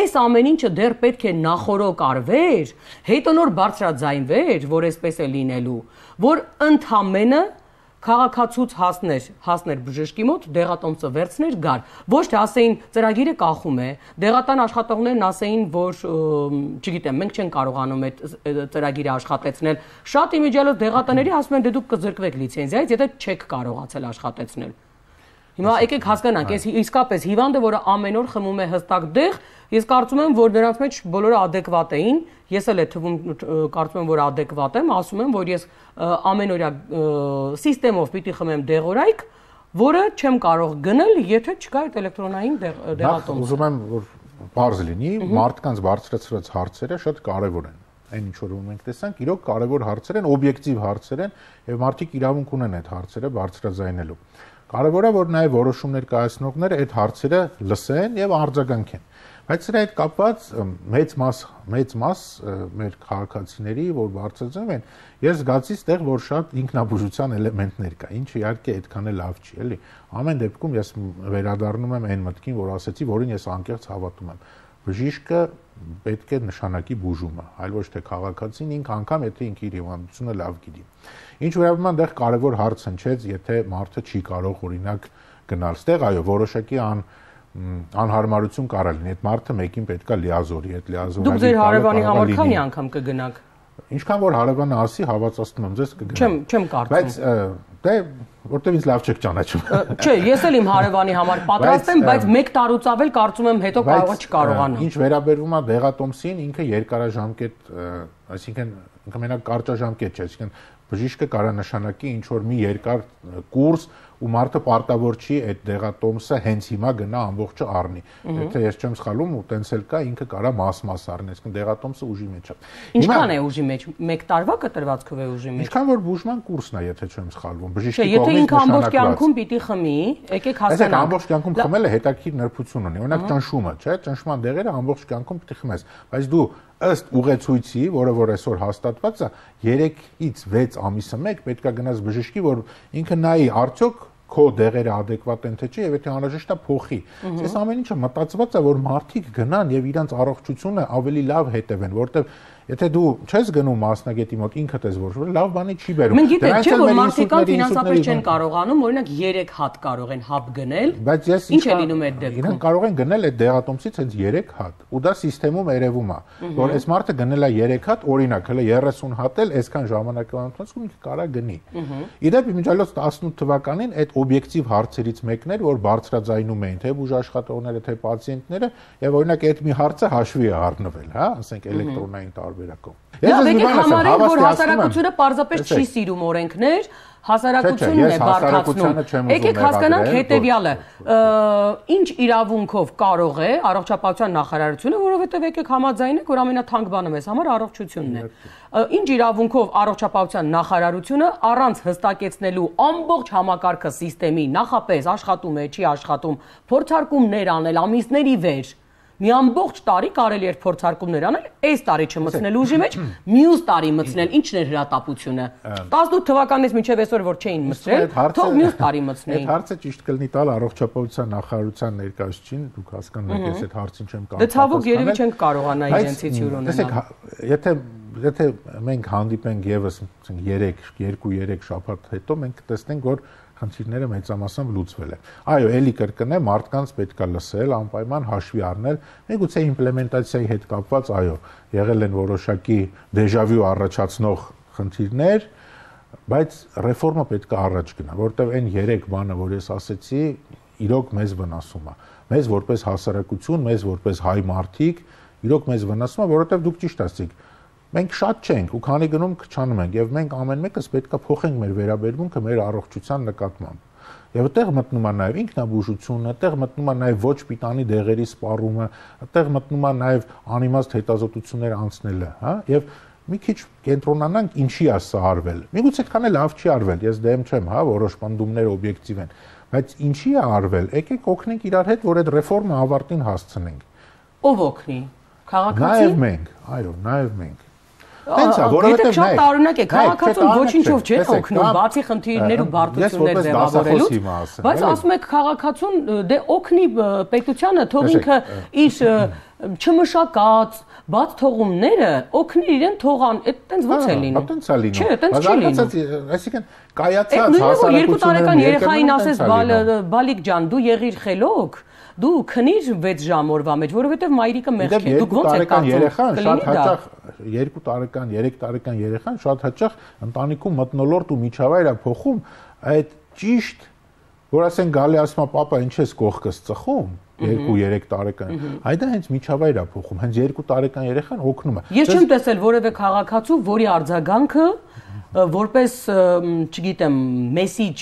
այս ամեն ինչը դեռ պետք է նախորոք արվեր, հետո նոր բարձրաձայնվեր, որ այսպես է լինելու, որ ընդամենը քաղաքացուց հասներ, հասներ բժշկի մոտ, դեղատոմսը վերցներ, գար։ Ոչ թե ասեին ծրագիրը կախում է, դեղատան աշխատողներն ասեին, որ չգիտեմ, մենք չենք կարողանում այդ ծրագիրը աշխատեցնել։ Շատ իմիջիալով դեղատաների ասում են, դե դուք կզրկվեք լիցենզիայից, եթե չեք կարողացել աշխատեցնել։ Հիմա եկեք հասկանանք, այս իսկապես հիվանդը, որը ամեն օր խմում է հստակ դեղ, ես կարծում եմ, որ նրանց մեջ բոլորը ադեկվատ էին, ես էլ է թվում կարծում եմ, որ ադեկվատ եմ, ասում եմ, որ ես ամենօրյա սիստեմով պիտի խմեմ դեղորայք, որը չեմ կարող գնել, եթե չկա այդ էլեկտրոնային դեղատոմս։ Ուզում եմ, որ բարձ լինի, մարդկանց բարձրացրած հարցերը շատ կարևոր են։ Այն ինչ որ մենք տեսանք, իրոք կարևոր հարցեր են, օբյեկտիվ հարցեր են, եւ մարդիկ իրավունք ունեն այդ հարցերը բարձրաձայնելու։ Կարևոր է, որ նաև որոշումներ կայացնողները այդ հարցերը լսեն եւ արձագանքեն։ Բայց սրա հետ կապված մեծ մաս մեծ մաս մեր քաղաքացիների, որ բարձրացնում են, ես զգացի ստեղ, որ շատ ինքնաբուժության էլեմենտներ կա, ինչը իհարկե այդքան էլ լավ չի, էլի։ Ամեն դեպքում ես վերադառնում եմ այն մտքին, որ ասեցի, որին ես անկեղծ հավատում եմ։ Բժիշկը պետք է նշանակի բուժումը, այլ ոչ թե քաղաքացին ինքը անգամ եթե ինքը իր հիվանդությունը լավ գիտի։ Ինչ վերաբերում է դեռ կարևոր հարց հնչեց, եթե մարդը չի կարող օրինակ գնալ ստեղ, այո, որոշակի ան անհարմարություն կարա լինի, այդ մարդը մեկին պետքա լիազորի, այդ լիազորի։ Դուք ձեր հարևանի համար քանի անգամ կգնաք։ Ինչքան որ հարևանը ասի, հավատացնում եմ, ձեզ կգնամ։ Չեմ, չեմ կարծում։ Բայց դե որտեւ ինձ լավ չեք ճանաչում։ Չէ, ես էլ իմ հարևանի համար պատրաստ եմ, բայց մեկ տարուց ավել կարծում եմ հետո կարող է չկարողանամ։ Ինչ վերաբերվում է դեղատոմսին, ինքը երկարաժամկետ, այսինքն ինքը մենակ կարճաժամկետ չէ, այսինքն բժիշկը կարա նշանակի ինչ որ մի երկար կուրս ու մարդը պարտավոր չի այդ դեղատոմսը հենց հիմա գնա ամբողջը առնի։ Եթե ես չեմ սխալվում, ու տենց էլ կա, ինքը կարա մաս-մաս առնի, այսինքն դեղատոմսը ուժի մեջ է։ Ինչքան է ուժի մեջ։ Մեկ տարվա կտրվածքով է ուժի մեջ։ Ինչքան որ բուժման կուրսն է, եթե չեմ սխալվում, բժիշկի կողմից նշանակված։ Եթե ինքը ամբողջ կյանքում պիտի խմի, եկեք հասկանանք։ Այսինքն ամբողջ կյանքում խմելը հետաքրքիր նրբություն ունի։ Օրինակ ճնշումը, չէ՞, ճնշման դեղերը ամբողջ կյանքում պիտի խմես, բայց դու ըստ ուղեցույցի, որը որ այսօր հաստատված է, երեքից վեց ամիսը մեկ պետքա գնաս բժշկի, որ ինքը նայի արդյոք քո դեղերը ադեկվատ են թե չէ, եւ եթե անհրաժեշտ է փոխի։ Այս ամեն ինչը մտածված է, որ մարդիկ գնան եւ իրանց առողջությունը ավելի լավ հետևեն, որտեվ Եթե դու չես գնում մասնագետի մոտ ինքդ ես որոշում, լավ բանի չի բերում։ Մենք գիտենք, չէ՞ որ մարդիկան ֆինանսապես չեն կարողանում, օրինակ երեք հատ կարող են հապ գնել։ Բայց ես ինչ է լինում այդ դեպքում։ Իրենք կարող են գնել այդ դեղատոմսից հենց երեք հատ, ու դա համակարգում երևում է, որ այս մարդը գնել է երեք հատ, օրինակ, հələ երեսուն հատ էլ այսքան ժամանակվա ընթացքում ինքը կարա գնի։ Իդեպ իմիջիալոց տասնութ թվականին այդ օբյեկտիվ հարցերից մեկն էր, որ բարձրաձայնում էին թե բուժաշխատողները, թե պացիենտները, եւ օրինակ այդ մի հարցը հաշվի է առնվել, հա, ասենք էլեկտրոնային տարբերակով։ Ես եկեք համարենք, որ հասարակությունը պարզապես չի սիրում օրենքներ, հասարակությունն է բարդացնում։ Եկեք հասկանանք հետեւյալը, ինչ իրավունքով կարող է առողջապահության նախարարությունը, որովհետեւ եկեք համաձայնենք, որ ամենաթանկ բանը մեզ համար առողջությունն է։ Ինչ իրավունքով առողջապահության նախարարությունը առանց հստակեցնելու ամբողջ համակարգը համակարգի նախապես աշխատում է, չի աշխատում, փորձարկումներ անել ամիսների վեր։ Մի ամբողջ տարի կարելի էր փորձարկումներ անել, այս տարի չմտցնել ուժի մեջ, մյուս տարի մտցնել, ինչն էր հրատապությունը։ տասնութ թվականից մինչև այսօր որ չէին մտցրել, թող մյուս տարի մտցնեին։ Այդ հարցը ճիշտ կլինի տալ առողջապահության նախարարության ներկայացուցիչին, դուք հասկանում եք, ես այդ հարցին չեմ կարող։ Դե ցավոք երևի չենք կարողանա իրենցից հյուր ունենալ։ Տեսեք, եթե եթե մենք հանդիպենք եւս երեք, երկու երեք շաբաթ հետո մենք կտեսնենք, որ խնդիրները մեծամասամբ լուծվել են։ Այո, էլի կրկնեմ, մարդկանց պետք է լսել, անպայման հաշվի առնել, միգուցե իմպլեմենտացիայի հետ կապված, այո, եղել են որոշակի դեժավյու առաջացնող խնդիրներ, բայց ռեֆորմը պետք է առաջ գնա, որտեղ այն երեք բանը, որ ես ասեցի, իրոք մեզ վնասում է։ Մեզ որպես հասարակություն, մեզ որպես հայ մարդիկ, իրոք մեզ վնասում է, որովհետև դուք ճիշտ ասեցիք, մենք շատ չենք ու քանի գնում քչանում ենք եւ մենք ամեն մեկս պետք է փոխենք մեր վերաբերմունքը մեր առողջության նկատմամբ։ Եվ այդտեղ մտնում է նաեւ ինքնաբուժությունը, այդտեղ մտնում է նաեւ ոչ պիտանի դեղերի սպառումը, այդտեղ մտնում է նաեւ անիմաստ հետազոտություններ անցնելը, հա? Եվ մի քիչ կենտրոնանանք ինչի է սա արվել։ Միգուցե քան լավ չի արվել, ես դեմ չեմ, հա, որոշ պնդումներ օբյեկտիվ են, բայց ինչի է արվել։ Եկեք օգնենք իրար հետ, որ այդ ռեֆորմը ավարտին հասցնենք։ Ով օգնի։ Քաղաքացի։ Նաեւ մենք, այո, նաեւ մենք։ Տենց է, որովհետև շատ տարօրինակ է, քաղաքացուն ոչինչով չեն օգնում, բացի խնդիրներ ու բարդություններ ձևավորելուց, բայց ասում եք քաղաքացուն դե օգնի պետությանը, թող ինքը իր չմշակած բաց թողումները օգնի իրեն թողան, այդ տենց ո՞նց է լինում։ Տենց է լինում։ Չէ, տենց չի լինում։ Այսինքն կայացած հասարակությունը երկու տարեկան երեխային ասես Բալիկ ջան, դու եղիր խելոք, դու քնիր վեց ժամ օրվա մեջ, որովհետև մայրիկը մեղք է, դուք ո՞նց եք կարծում։ Շատ հաճախ երկու տարեկան, երեք տարեկան երեխան շատ հաճախ ընտանիքում մթնոլորտ ու միջավայր է փոխում, այդ ճիշտ, որ ասեն գալի ասում է պապա ինչ ես կողքս ծխում, երկու երեք տարեկան, այդա հենց միջավայր է փոխում, հենց երկու տարեկան երեխան օգնում է։ Ես չեմ տեսել որևէ քաղաքացու, որի արձագանքը որպես, չգիտեմ, մեսիջ,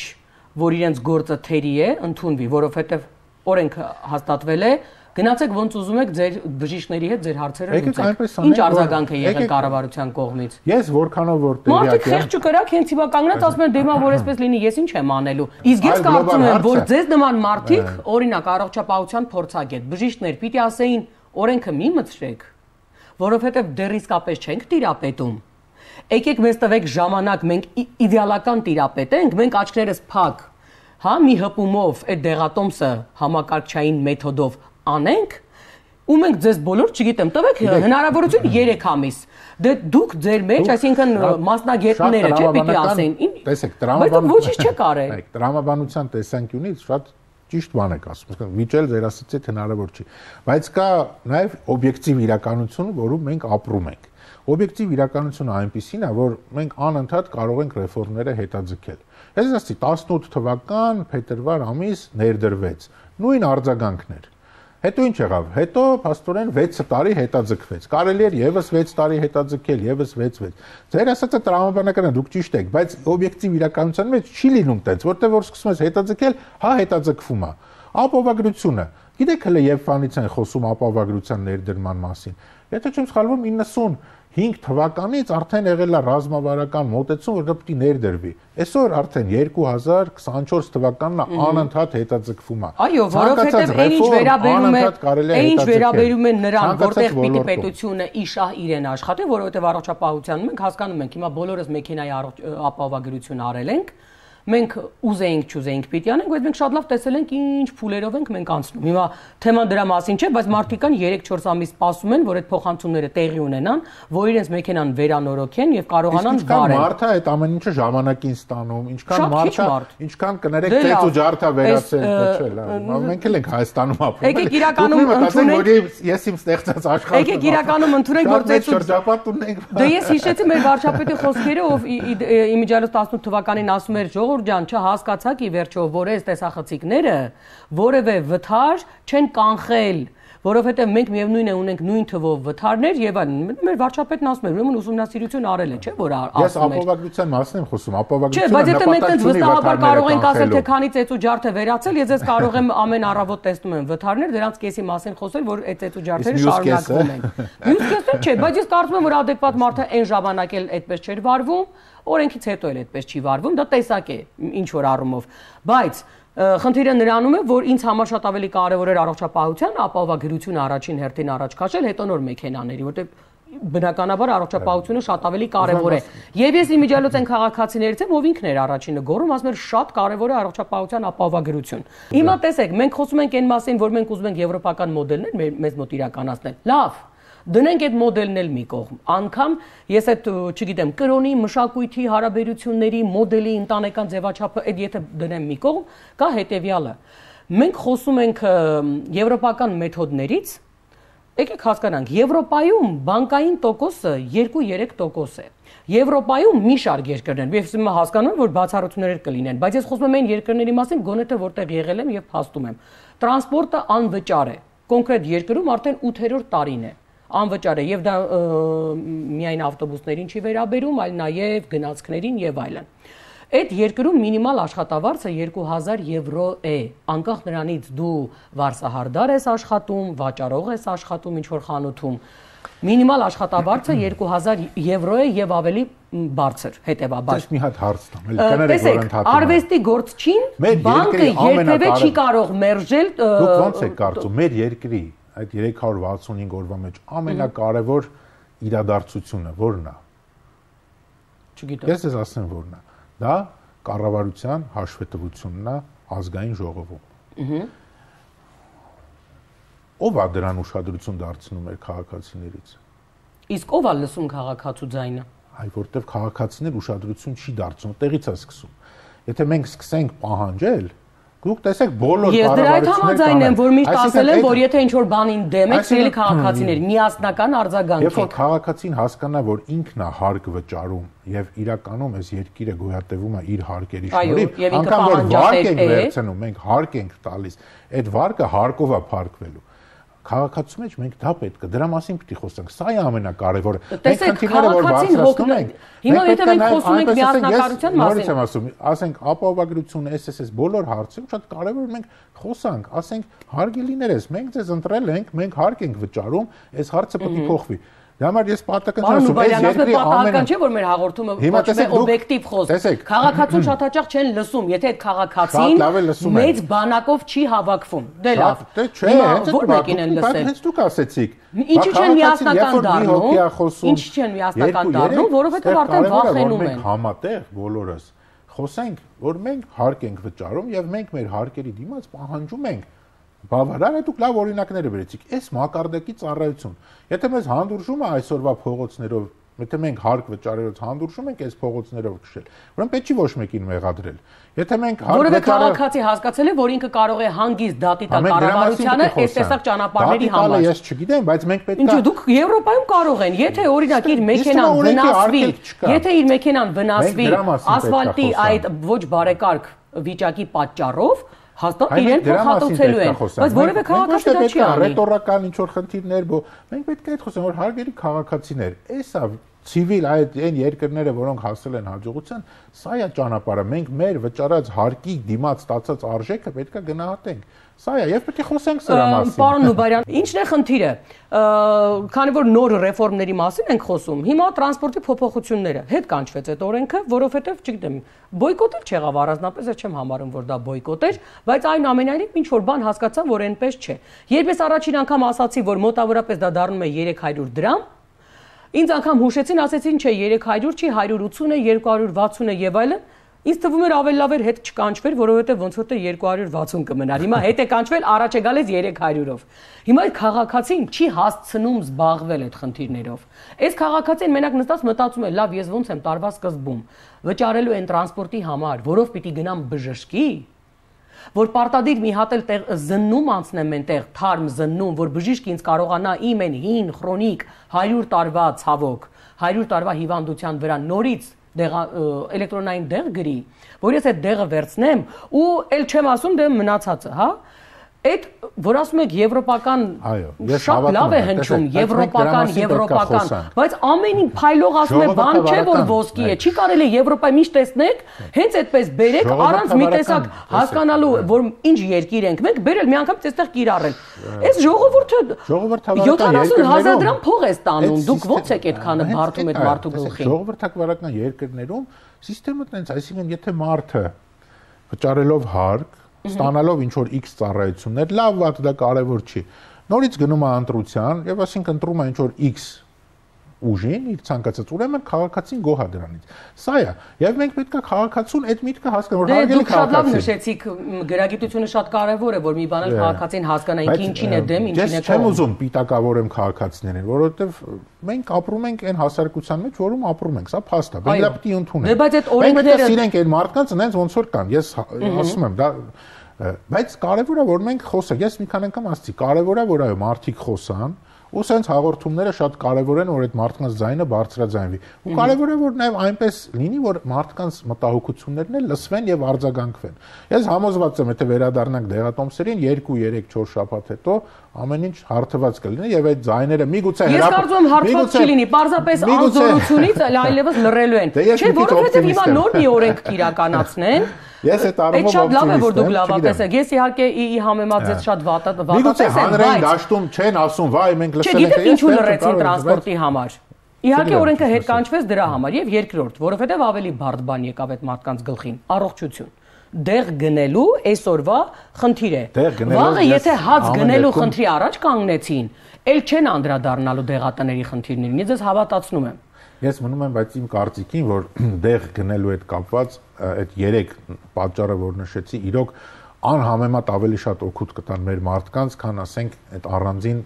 որ իրենց գործը թերի է, ընդունվի, որովհետև օրենքը հաստատվել է, գնացեք ոնց ուզում եք ձեր բժիշկների հետ ձեր հարցերը լուծեք։ Ինչ արձագանք է եղել կառավարության կողմից։ Ես որքանով որ տեղյակ եմ։ Մարդիկ խեղճ կրակ հենց հիմա կանգնած ասում են դե մա որ այսպես լինի, ես ինչ եմ անելու։ Իսկ ես կարծում եմ, որ ձեզ նման մարդիկ, օրինակ առողջապահության փորձագետ, բժիշկներ պիտի ասեին օրենքը մի մտցրեք, որովհետև դեռ իսկապես չենք տիրապետում։ Եկեք մեզ տվեք ժամանակ, մենք իդեալական տիրապետենք, մենք աչքներս փակ, հա, մի հպումով այդ դեղատոմսը համակարգչային մեթոդով անենք, ու մենք ձեզ բոլոր, չգիտեմ, տվեք հնարավորություն երեք ամիս։ Դե դուք ձեր մեջ, այսինքն մասնագետները, չէ՞, պիտի ասեն։ Տեսեք, տրամաբանության տեսանկյունից շատ ճիշտ բան եք ասում, վիճել ձեր ասացիդ հնարավոր չի, բայց կա նաև օբյեկտիվ իրականություն, որում մենք ապրում ենք։ Օբյեկտիվ իրականությունը այնպիսին է, որ մենք անընդհատ կարող ենք ռեֆորմները հետաձգել։ Ես ասացի տասնութ թվական փետրվար ամիս ներդրվեց, նույն արձագանքներ։ Հետո ինչ եղավ։ Հետո փաստորեն վեց տարի հետաձգվեց։ Կարելի էր եւս վեց տարի հետաձգել, եւս վեց վեց։ Ձեր ասածը տրամաբանական է, դուք ճիշտ եք, բայց օբյեկտիվ իրականության մեջ չի լինում տենց, որտեղ որ սկսում ես հետաձգել, հա հետաձգվում է։ Ապահովագրությունը։ Գիտեք հələ երբ բանից են խոսում ապահովագրության ներդրման մասին։ Եթե չեմ սխալվում իննսունհինգ թվականից արդեն եղել է ռազմավարական մոտեցում, որ դա պետք է ներդրվի։ Այսօր արդեն երկու հազար քսանչորս թվականն է անընդհատ հետաձգվում է։ Այո, որովհետև այն ինչ վերաբերում է, այն ինչ վերաբերում է նրան, որտեղ պիտի պետությունը իշահ իրեն աշխատի, որովհետև առողջապահության մենք հասկանում ենք, հիմա բոլորս մեքենայի ապահովագրություն արել ենք, մենք ուզեինք չուզեինք պիտի անենք, բայց մենք շատ լավ տեսել ենք ինչ փուլերով ենք մենք անցնում։ Հիմա թեման դրա մասին չէ, բայց մարդիկ կան երեք-չորս ամիս սպասում են, որ այդ փոխանցումները տեղի ունենան, որ իրենց մեքենան վերանորոգեն եւ կարողանան վարել։ Ինչքան մարդը այդ ամեն ինչը ժամանակին ստանում, ինչքան մարդը, ինչքան կներեք ծեծ ու ջարդա վերացել, չէ՞, լավ։ Մենք էլ ենք Հայաստանում ապրում։ Եկեք իրականում ընդունենք, ես իմ ստեղծած աշխարհում։ Եկեք իրականում ընդունենք, որ ծեծ ու շրջապատ ունենք։ Դե ես հիշեցի մեր վարչապետի խոսքերը, ով իմիջիայլոց տասնութ թվականին ասում էր ժողովուրդ ջան, չհասկացաք ի վերջո, որ այս տեսախցիկները որևէ վթար չեն կանխել, որովհետև մենք միևնույն է ունենք նույն թվով վթարներ եւ այլն։ Մեր վարչապետն ասում էր, ուրեմն ուսումնասիրություն արել է, չէ՞ որ ասում էր։ Ես ապահովագրության մասն եմ խոսում, ապահովագրությունը նպատակ չունի վթարներ կանխելու։ Չէ, բայց եթե մենք այդպես վստահաբար կարող ենք ասել, թե քանի ծեծ ու ջարդ է վերացել, ես ես կարող եմ ամեն առավոտ տեսնում եմ վթարներ, դրանց կեսի մասին խոսել, որ այդ ծեծ ու ջարդերը շարունակվում են։ Մյուս կեսը չէ, բայց ես կարծում եմ, որ ադեկվատ մարդը այն ժամանակ էլ այդպես չէր վարվում, օրենքից հետո էլ այդպես չի վարվում, դա տեսակ է ինչ որ առումով, բայց խնդիրը նրանում է, որ ինձ համար շատ ավելի կարևոր էր առողջապահության ապահովագրությունը առաջին հերթին առաջ քաշել, հետո նոր մեքենաների, որտեղ բնականաբար առողջապահությունը շատ ավելի կարևոր է։ Եվ ես իմիջիայլոց այն քաղաքացիներից եմ, ով ինքն էր առաջինը գոռում, ասում էր շատ կարևոր է առողջապահության ապահովագրություն։ Հիմա տեսեք, մենք խոսում ենք այն մասին, որ մենք ուզում ենք եվրոպական մոդելներ մեզ մոտ իրականացնել։ Լավ, դնենք այդ մոդելն էլ մի կողմ։ Անկամ ես այդ, չգիտեմ, կրոնի, մշակույթի, հարաբերությունների, մոդելի, ընտանեկան ձևաչափը այդ եթե դնեմ մի կողմ, կա հետևյալը։ Մենք խոսում ենք եվրոպական մեթոդներից, եկեք հասկանանք, Եվրոպայում բանկային տոկոսը երկու-երեք տոկոս է։ Եվրոպայում մի շարք երկրներ, ես հիմա հասկանում եմ, որ բացառություններ կլինեն, բայց ես խոսում եմ այն երկրների մասին, գոնե թե որտեղ եղել եմ եւ փաստում եմ։ Տրանսպորտը անվճար է։ Կոնկրետ երկրում արդեն ութերորդ տարին է։ Անվճար է եւ դա միայն ավտոբուսներին չի վերաբերում, այլ նաեւ գնացքներին եւ այլն։ Այդ երկրում մինիմալ աշխատավարձը երկու հազար եվրո է, անկախ նրանից դու վարսահարդար ես աշխատում, վաճառող ես աշխատում ինչ-որ խանութում, մինիմալ աշխատավարձը երկու հազար եվրո է եւ ավելի բարձր, հետեւաբար։ Ես մի հատ հարց տամ, էլի կներեք, որ ընդհատում եմ։ Արվեստի գործչին բանկը երբևէ չի կարող մերժել։ Դուք ո՞նց եք կարծում, մեր երկրի այդ երեք հարյուր վաթսունհինգ օրվա մեջ ամենակարևոր իրադարձությունը ո՞րն է։ Չգիտեմ։ Ես ես ասեմ ո՞րն է։ Դա կառավարության հաշվետվությունն է ազգային ժողովում։ Ո՞վ է դրան ուշադրություն դարձնում էր քաղաքացիներից։ Իսկ ո՞վ է լսում քաղաքացու ձայնը։ Այ որտեվ քաղաքացիներ ուշադրություն չի դարձնում, տեղից է սկսում։ Եթե մենք սկսենք պահանջել, դուք տեսեք բոլոր կառավարությունները։ Ես դրա հետ համաձայն եմ, որ միշտ ասել եմ, որ եթե ինչ-որ բանին դեմ եք, սիրելի քաղաքացիներ, միասնական արձագանք եք։ Երբ որ քաղաքացին հասկանա, որ ինքն է հարկ վճարում եւ իրականում այս երկիրը գոյատևում է իր հարկերի շնորհիվ, անկամ որ վարկ ենք վերցնում, մենք հարկ ենք տալիս, այդ վարկը հարկով է փրկվելու։ Քաղաքացու մեջ մենք դա պետք է դրա մասին պիտի խոսենք, սա է ամենակարևորը։ Տեսեք, քաղաքացին հոգնում ենք։ Հիմա եթե մենք խոսում ենք միասնականության մասին, նորից եմ ասում, ասենք ապահովագրություն, էս էս էս բոլոր հարցերը շատ կարևոր մենք խոսանք, ասենք հարգելի ներես, մենք ձեզ ընտրել ենք, մենք հարկ ենք վճարում, այս հարցը պետք է փոխվի։ Դա համար ես պատահական ասում, այս երկրի ամեն չէ որ մեր հաղորդումը ոչ թե օբյեկտիվ խոսք։ Քաղաքացուն շատ հաճախ չեն լսում, եթե այդ քաղաքացին մեծ բանակով չի հավաքվում։ Դե լավ։ Դե չէ, ո՞ր մեկին են լսել։ Հենց դուք ասեցիք։ Ինչի չեն միասնական դառնում։ Ինչի չեն միասնական դառնում, որովհետև արդեն վախենում են։ Համատեղ բոլորս խոսենք, որ մենք հարկ ենք վճարում եւ մենք մեր հարկերի դիմաց պահանջում ենք բավարար է դուք լավ օրինակները վերեցիք։ Այս մակարդակի ծառայություն։ Եթե մեզ հանդուրժում է այսօրվա փողոցներով, եթե մենք հարկ վճարելուց հանդուրժում ենք այս փողոցներով քշել, ուրեմն պետք չի ոչ մեկին մեղադրել։ Եթե մենք հարկ վճարել, որովհետև քաղաքացի հասկացել է, որ ինքը կարող է հանգիստ դատի տալ կառավարությանը այս տեսակ ճանապարհների համար։ Ես չգիտեմ, բայց մենք պետք է։ Ինչու դուք Եվրոպայում կարող են, եթե օրինակ իր մեքենան վնասվի, եթե իր մեքենան վնասվի ասֆալտի այդ ոչ բարեկարգ վիճակի պատճառով, հաստատ իրեն փոխհատուցելու են, բայց որևէ քաղաքացի դա չի անի։ Ռետորական ինչ-որ խնդիրներ, մենք պետք է այդ խոսենք, որ հարգելի քաղաքացիներ, էսա ցիվիլ այդ այն երկրները, որոնք հասել են հաջողության, սա է ճանապարհը, մենք մեր վճարած հարկի դիմաց ստացած արժեքը պետք է գնահատենք։ Սա է, եւ պետք է խոսենք սրա մասին։ Պարոն Նուբարյան, ի՞նչն է խնդիրը։ Քանի որ նոր ռեֆորմների մասին ենք խոսում, հիմա տրանսպորտի փոփոխությունները հետ կանչվեց այդ օրենքը, որովհետեւ, չգիտեմ, բոյկոտ էլ չեղավ առանձնապես, ես չեմ համարում, որ դա բոյկոտ էր, բայց այնուամենայնիվ ինչ որ բան հասկացա, որ այնպես չէ։ Երբ ես առաջին անգամ ասացի, որ մոտավորապես դա դառնում է երեք հարյուր դրամ, ինձ անգամ հուշեցին, ասեցին, չէ, երեք հարյուր չի, հարյուր ութուն է, երկու հարյուր վաթսուն է եւ այլն։ Ինձ թվում էր ավելի լավ էր հետ չկանչվեր, որովհետև ոնց որ թե երկու հարյուր վաթսուն կմնար։ Հիմա հետ է կանչվել, առաջ է գալիս երեք հարյուրով։ Հիմա այդ քաղաքացին չի հասցնում զբաղվել այդ խնդիրներով։ Այս քաղաքացին մենակ նստած մտածում է, լավ, ես ոնց եմ տարվա սկզբում վճարելու են տրանսպորտի համար, որով պիտի գնամ բժշկի, որ պարտադիր մի հատ էլ զննում անցնեմ այնտեղ, թարմ զննում, որ բժիշկը ինձ կարողանա իմ այն հին քրոնիկ հարյուր տարվա ցավոք, հարյուր տարվա հիվանդության վրա նորից էլեկտրոնային դեղ գրի, որ ես այդ դեղը վերցնեմ ու էլ չեմ ասում դե մնացածը, հա? Այդ որ ասում եք եվրոպական շատ լավ է հնչում, եվրոպական, եվրոպական, բայց ամենին փայլող ասում է բան չէ, որ ոսկի է, չի կարելի Եվրոպայի միշտ տեսնեք, հենց այդպես բերեք առանց մի տեսակ հասկանալու, որ ինչ երկիր ենք մենք, բերել մի անգամ այստեղ կիրառել։ Այս ժողովուրդը յոթանասուն հազար դրամ փող է ստանում, դուք ո՞նց եք այդքանը բարդում այդ մարդու գլխին։ Ժողովրդական երկրներում համակարգը տենց, այսինքն եթե մարդը վճարելով հարկ ստանալով ինչ որ X ծառայություններ, լավ վատ դա կարևոր չի։ Նորից գնում է ընտրության եւ այսինքն ընտրում է ինչ որ X ուժին, իր ցանկացած, ուրեմն քաղաքացին գոհ է դրանից։ Սա է, եւ մենք պետք է քաղաքացուն այդ միտքը հասկանալ, որ հարգելի քաղաքացին։ Դուք շատ լավ նշեցիք, գրագիտությունը շատ կարևոր է, որ մի բան էլ քաղաքացին հասկանա ինքը ինչին է դեմ, ինչին է կողմ։ Ես չեմ ուզում պիտակավորեմ քաղաքացիներին, որովհետեւ մենք ապրում ենք այն հասարակության մեջ, որում ապրում ենք, սա փաստ է, մենք դա պիտի ընդունենք։ Բայց այդ օրենքները սիրենք այն մարդկանց, այնց ոնց որ կան։ Ես ասում եմ, դա բայց կարևոր է որ մենք խոսենք, ես մի քանի անգամ ասացի, կարևոր է որ այո մարդիկ խոսան, ու սենց հաղորդումները շատ կարևոր են, որ այդ մարդկանց ձայնը բարձրաձայնվի։ Ու կարևոր է որ նաև այնպես լինի, որ մարդկանց մտահոգություններն էլ լսվեն եւ արձագանքվեն։ Ես համոզված եմ, եթե վերադառնանք դեղատոմսերին երկու երեք չորս շաբաթ հետո ամեն ինչ հարթված կլինի եւ այդ ձայները միգուցե հրապ։ Ես կարծում եմ հարթված չլինի, պարզապես անզորությունից այլևս լռելու են։ Չէ, որովհետեւ հիմա նոր մի օրենք կիրականացնեն։ Ես այդ առումով շատ լավ է որ դուք լավատես եք։ Ես իհարկե ի համեմատ ձեզ շատ վատատես եմ։ Միգուցե հանրային դաշտում չեն ասում, վայ, մենք լսել ենք։ Չգիտեք ինչու լռեցին տրանսպորտի համար։ Իհարկե օրենքը հետ կանչվեց դրա համար եւ երկրորդ, որովհետեւ ավելի բարդ բան եկավ այդ մարդկանց գլխին՝ առողջություն։ Դեղ գնելու այսօրվա խնդիր է։ Վաղը եթե հաց գնելու խնդրի առաջ կանգնեցին, ել չեն անդրադառնալու դեղատների խնդիրներին։ Ես ձեզ հավատացնում եմ։ Ես մնում եմ, բայց իմ կարծիքին, որ դեղ գնելու հետ կապված այդ երեք պատճառը, որ նշեցի, իրոք անհամեմատ ավելի շատ օգուտ կտան մեր մարդկանց, քան ասենք այդ առանձին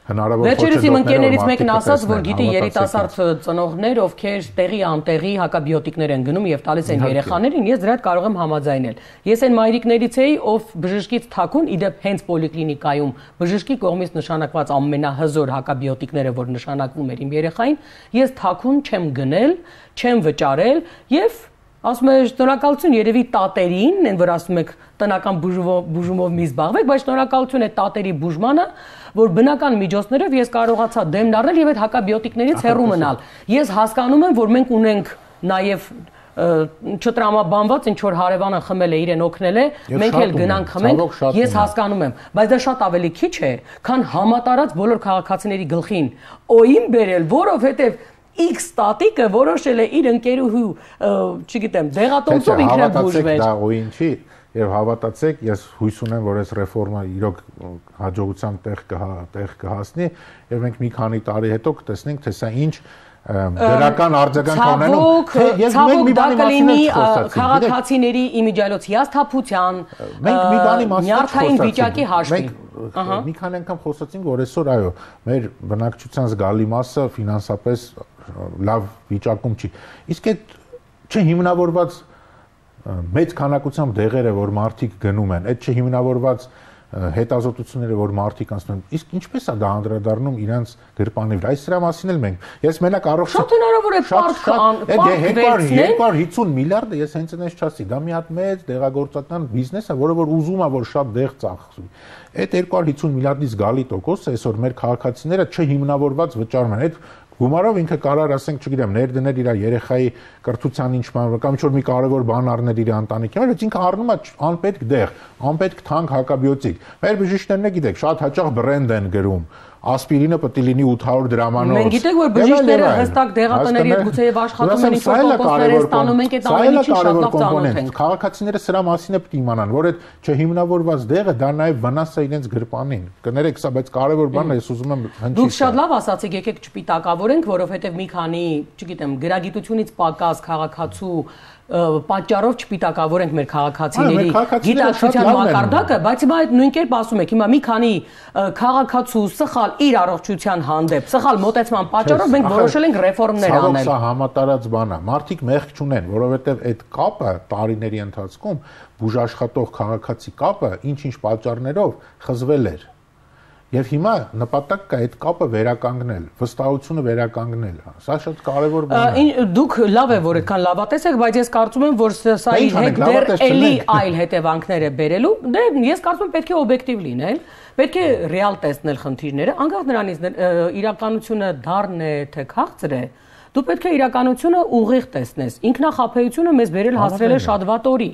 հնարավոր Վերջերս իմ ընկերներից մեկն ասաց, որ գիտի երիտասարդ ծնողներ, ովքեր տեղի անտեղի հակաբիոտիկներ են գնում եւ տալիս են երեխաներին, ես դրա հետ կարող եմ համաձայնել։ Ես այն մայրիկներից էի, ով բժշկից թաքուն, իդեպ հենց պոլիկլինիկայում բժշկի կողմից նշանակված ամենահզոր հակաբիոտիկները, որ նշանակվում էր իմ երեխային, ես թաքուն չեմ գնել, չեմ վճարել եւ ասում եմ շնորհակալություն երևի տատերին, են որ ասում եք տնական բուժումով մի զբաղվեք, բայց շնորհակալություն է տատերի բուժմանը, որ բնական միջոցներով ես կարողացա դեմն առնել եւ այդ հակաբիոտիկներից հեռու մնալ։ Ես հասկանում եմ, որ մենք ունենք նաեւ չտրամաբանված ինչ որ հարևանը խմել է, իրեն օգնել է, մենք էլ գնանք խմենք, ես հասկանում եմ, բայց դա շատ ավելի քիչ է, քան համատարած բոլոր քաղաքացիների գլխին օին բերել, որովհետեւ X տատիկը որոշել է իր ընկերուհու, չգիտեմ, դեղատոմսով ինքն բուժվեր։ Դա օին չի, եւ հավատացեք, ես հույս ունեմ, որ այս ռեֆորմը իրոք հաջողության տեղ տեղ կհասնի, եւ մենք մի քանի տարի հետո կտեսնենք, թե սա ինչ դրական արձագանք ունենում։ Ես մենք մի բանի մասին խոսացինք, քաղաքացիների իմիջիայլոց հիասթափության, մենք մի բանի մասին նյարդային վիճակի հաշվին։ Մի քանի անգամ խոսացինք, որ այսօր այո, մեր բնակչության զգալի մասը ֆինանսապես լավ վիճակում չի։ Իսկ այդ չհիմնավորված մեծ քանակությամբ դեղերը, որ մարդիկ գնում են, այդ չհիմնավորված հետազոտությունները, որ մարդիկ անցնում են, իսկ ինչպես է դա անդրադառնում իրանց գրպանի վրա։ Այս դրա մասին էլ մենք։ Ես մենակ առողջ շատ հնարավոր է պարտք երկու հարյուր հիսուն միլիարդը ես հենց այնպես չասի, դա մի հատ մեծ դեղագործական բիզնես է, որը որ ուզում է, որ շատ դեղ ծախսվի։ Այդ երկու հարյուր հիսուն միլիարդից զգալի տոկոսը այսօր մեր քաղաքացիները չհիմնավորված վճարում են։ Այդ գումարով ինքը կարող ասենք, չգիտեմ, ներդնել իր երեխայի կրթության ինչ բան, կամ ինչ որ մի կարևոր բան առնել իր ընտանիքի, բայց ինքը առնում է անպետք դեղ, անպետք թանկ հակաբիոտիկ։ Մեր բժիշկներն է գիտեք, շատ հաճախ բրենդ են գրում, ասպիրինը պետք է լինի ութ հարյուր դրամանոց։ Մենք գիտենք, որ բժիշկները հստակ դեղատների հետ գուցեև աշխատում են, ինչ-որ տոկոսներ են ստանում, մենք այդ ամենի շատ լավ ծանոթ ենք։ Քաղաքացիները սրա մասին է պետք է իմանան, որ այդ չհիմնավորված դեղը դա նաև վնաս է իրենց գրպանին։ Կներեք, սա բայց կարևոր բան է, ես ուզում եմ հնչի։ Դուք շատ լավ ասացիք, եկեք չպիտակավորենք, որովհետև մի քանի, չգիտեմ, գրագիտությունից պակաս քաղաքացու պատճառով չպիտակավորենք մեր քաղաքացիների գիտակցության մակարդակը, բայց հիմա այդ նույն կերպ ասում եք, հիմա մի քանի քաղաքացու սխալ իր առողջության հանդեպ, սխալ մոտեցման պատճառով մենք որոշել ենք ռեֆորմներ անել։ Սա համատարած բան է։ Մարդիկ մեղք չունեն, որովհետև այդ կապը տարիների ընթացքում բուժաշխատող քաղաքացի կապը ինչ-ինչ պատճառներով խզվել էր։ Եվ հիմա նպատակ կա այդ կապը վերականգնել, վստահությունը վերականգնել։ Սա շատ կարևոր բան է։ Դուք լավ է, որ այդքան լավատես եք, բայց ես կարծում եմ, որ սա իր հետ դեռ էլի այլ հետևանքներ է բերելու։ Դե ես կարծում եմ պետք է օբյեկտիվ լինել, պետք է ռեալ տեսնել խնդիրները, անկախ նրանից իրականությունը դառն է թե քաղցր է։ Դու պետք է իրականությունը ուղիղ տեսնես։ Ինքնախապեյությունը մեզ բերել հասրել է շատ վատ օրի։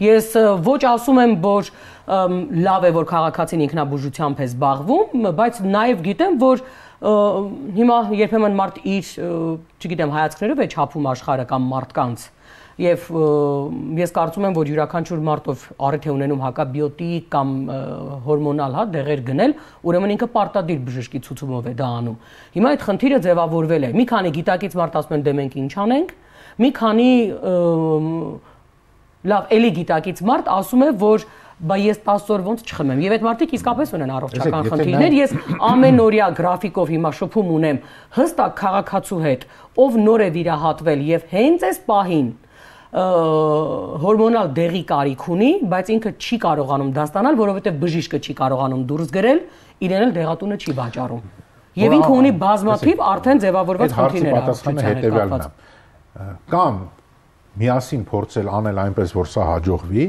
Ես ոչ ասում եմ, որ լավ է, որ քաղաքացին ինքնաբուժությամբ է զբաղվում, բայց նաև գիտեմ, որ հիմա երբեմն մարդ իր, չգիտեմ, հայացքներով է չափում աշխարհը կամ մարդկանց։ Եվ ես կարծում եմ, որ յուրաքանչյուր մարդով առիթ է ունենում հակաբիոտիկ կամ հորմոնալ հա դեղեր գնել, ուրեմն ինքը պարտադիր բժշկի ցուցումով է դա անում։ Հիմա այդ խնդիրը ձևավորվել է։ Մի քանի գիտակից մարդ ասում են դե մենք ինչ անենք, մի քանի լավ էլի գիտակից մարդ ասում է, որ բա ես տասը օր ոնց չխմեմ։ Եվ այդ մարդիկ իսկապես ունեն առողջական խնդիրներ։ Ես ամենօրյա գրաֆիկով հիմա շփում ունեմ հստակ քաղաքացու հետ, ով նոր է վիրահատվել եւ հենց այս պահին հորմոնալ դեղի կարիք ունի, բայց ինքը չի կարողանում դա ստանալ, որովհետև բժիշկը չի կարողանում դուրս գրել, իրեն էլ դեղատունը չի վաճառում։ Եվ ինքը ունի բազմաթիվ արդեն ձևավորված խնդիրներ առողջության հետ։ Կամ միասին փորձել անել այնպես, որ սա հաջողվի,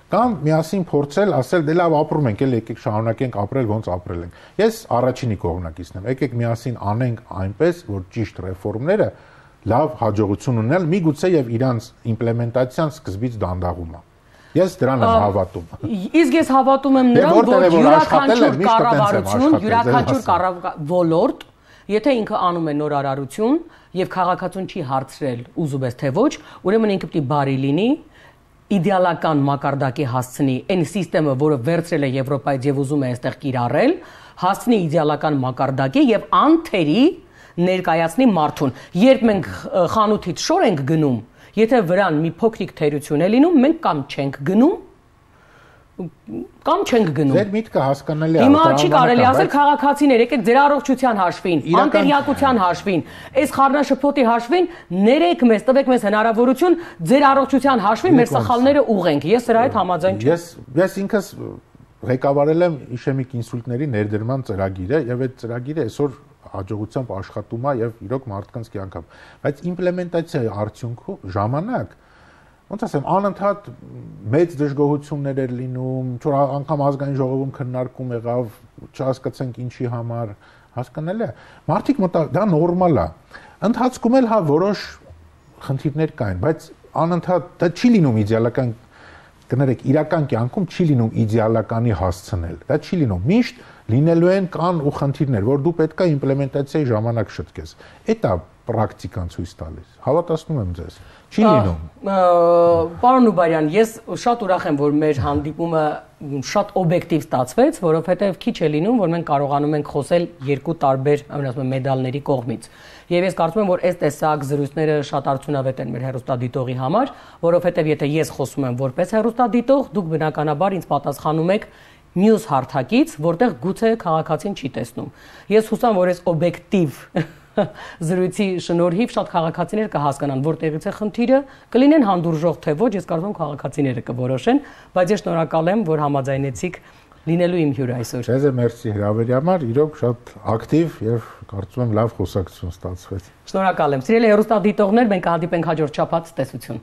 կամ միասին փորձել ասել դե լավ ապրում ենք, էլ եկեք շարունակենք ապրել, ոնց ապրել ենք։ Ես առաջինի կողմնակիցն եմ։ Եկեք միասին անենք այնպես, որ ճիշտ ռեֆորմները լավ հաջողություն ունենալ, միգուցե եւ իրանց իմպլեմենտացիան սկզբից դանդաղում է։ Ես դրան եմ հավատում։ Իսկ ես հավատում եմ նրան, որ յուրաքանչյուր կառավարություն, յուրաքանչյուր ոլորտ, եթե ինքը անում է նոր արարություն եւ քաղաքացուն չի հարցրել ուզում ես թե ոչ, ուրեմն ինքը պիտի բարի լինի, իդեալական մակարդակի հասցնի այն համակարգը, որը վերցրել է Եվրոպայից եւ ուզում է այստեղ կիրառել, հասցնի իդեալական մակարդակի եւ անթերի ներկայացնի մարդուն։ Երբ մենք խանութից շոր ենք գնում, եթե վրան մի փոքրիկ թերություն է լինում, մենք կամ չենք գնում, կամ չենք գնում։ Ձեր միտքը հասկանալի է։ Հիմա չի կարելի ասել քաղաքացիներ, եկեք ձեր առողջության հաշվին, անկերյակության հաշվին, այս խառնաշփոթի հաշվին ներեք մեզ, տվեք մեզ հնարավորություն ձեր առողջության հաշվին մեր սխալները ուղենք։ Ես սրա հետ համաձայն չեմ։ Ես ես ինքս ղեկավարել եմ իշեմիկ ինսուլտների ներդրման ծրագիրը եւ այդ ծրագիրը այսօր հաջողությամբ աշխատում է եւ իրոք մարդկանց կյանքով, բայց իմպլեմենտացիայի արդյունքում ժամանակ ոնց ասեմ, անընդհատ մեծ դժգոհություններ էր լինում, չոր անգամ ազգային ժողովում քննարկում եղավ, չհասկացանք ինչի համար, հասկանալի է։ Մարդիկ մտա դա նորմալ է։ Ընթացքում էլ հա որոշ խնդիրներ կային, բայց անընդհատ դա չի լինում իդեալական, կներեք, իրական կյանքում չի լինում իդեալականի հասցնել։ Դա չի լինում։ Միշտ լինելու են կան ու խնդիրներ, որ դու պետք է իմպլեմենտացիայի ժամանակ շտկես։ Էդ է պրակտիկան ցույց տալիս։ Հավատացնում եմ ձեզ։ Չի լինում։ Պարոն Նուբարյան, ես շատ ուրախ եմ, որ մեր հանդիպումը շատ օբյեկտիվ ստացվեց, որովհետև քիչ է լինում, որ մենք կարողանում ենք խոսել երկու տարբեր, ասում եմ, մեդալների կողմից։ Եվ ես կարծում եմ, որ այս տեսակ զրույցները շատ արդյունավետ են մեր հեռուստադիտողի համար, որովհետև եթե ես խոսում եմ որպես հեռուստադիտող, դուք բնականաբար ինձ պատասխանում եք մյուս հարթակից, որտեղ գուցե քաղաքացին չի տեսնում։ Ես հուսամ, որ այս օբյեկտիվ զրույցի շնորհիվ շատ քաղաքացիներ կհասկանան, որտեղից է խնդիրը, կլինեն հանդուրժող թե ոչ, ես կարծում եմ քաղաքացիները կորոշեն, բայց ես շնորհակալ եմ, որ համաձայնեցիք լինելու իմ հյուրը այսօր։ Ձեզ մերսի հրավերի համար, իրոք շատ ակտիվ եւ կարծում եմ լավ խոսակցություն ստացվեց։ Շնորհակալ եմ։ Սիրելի հեռուստադիտողներ, մենք կհանդիպենք հաջորդ շաբաթ, տեսություն։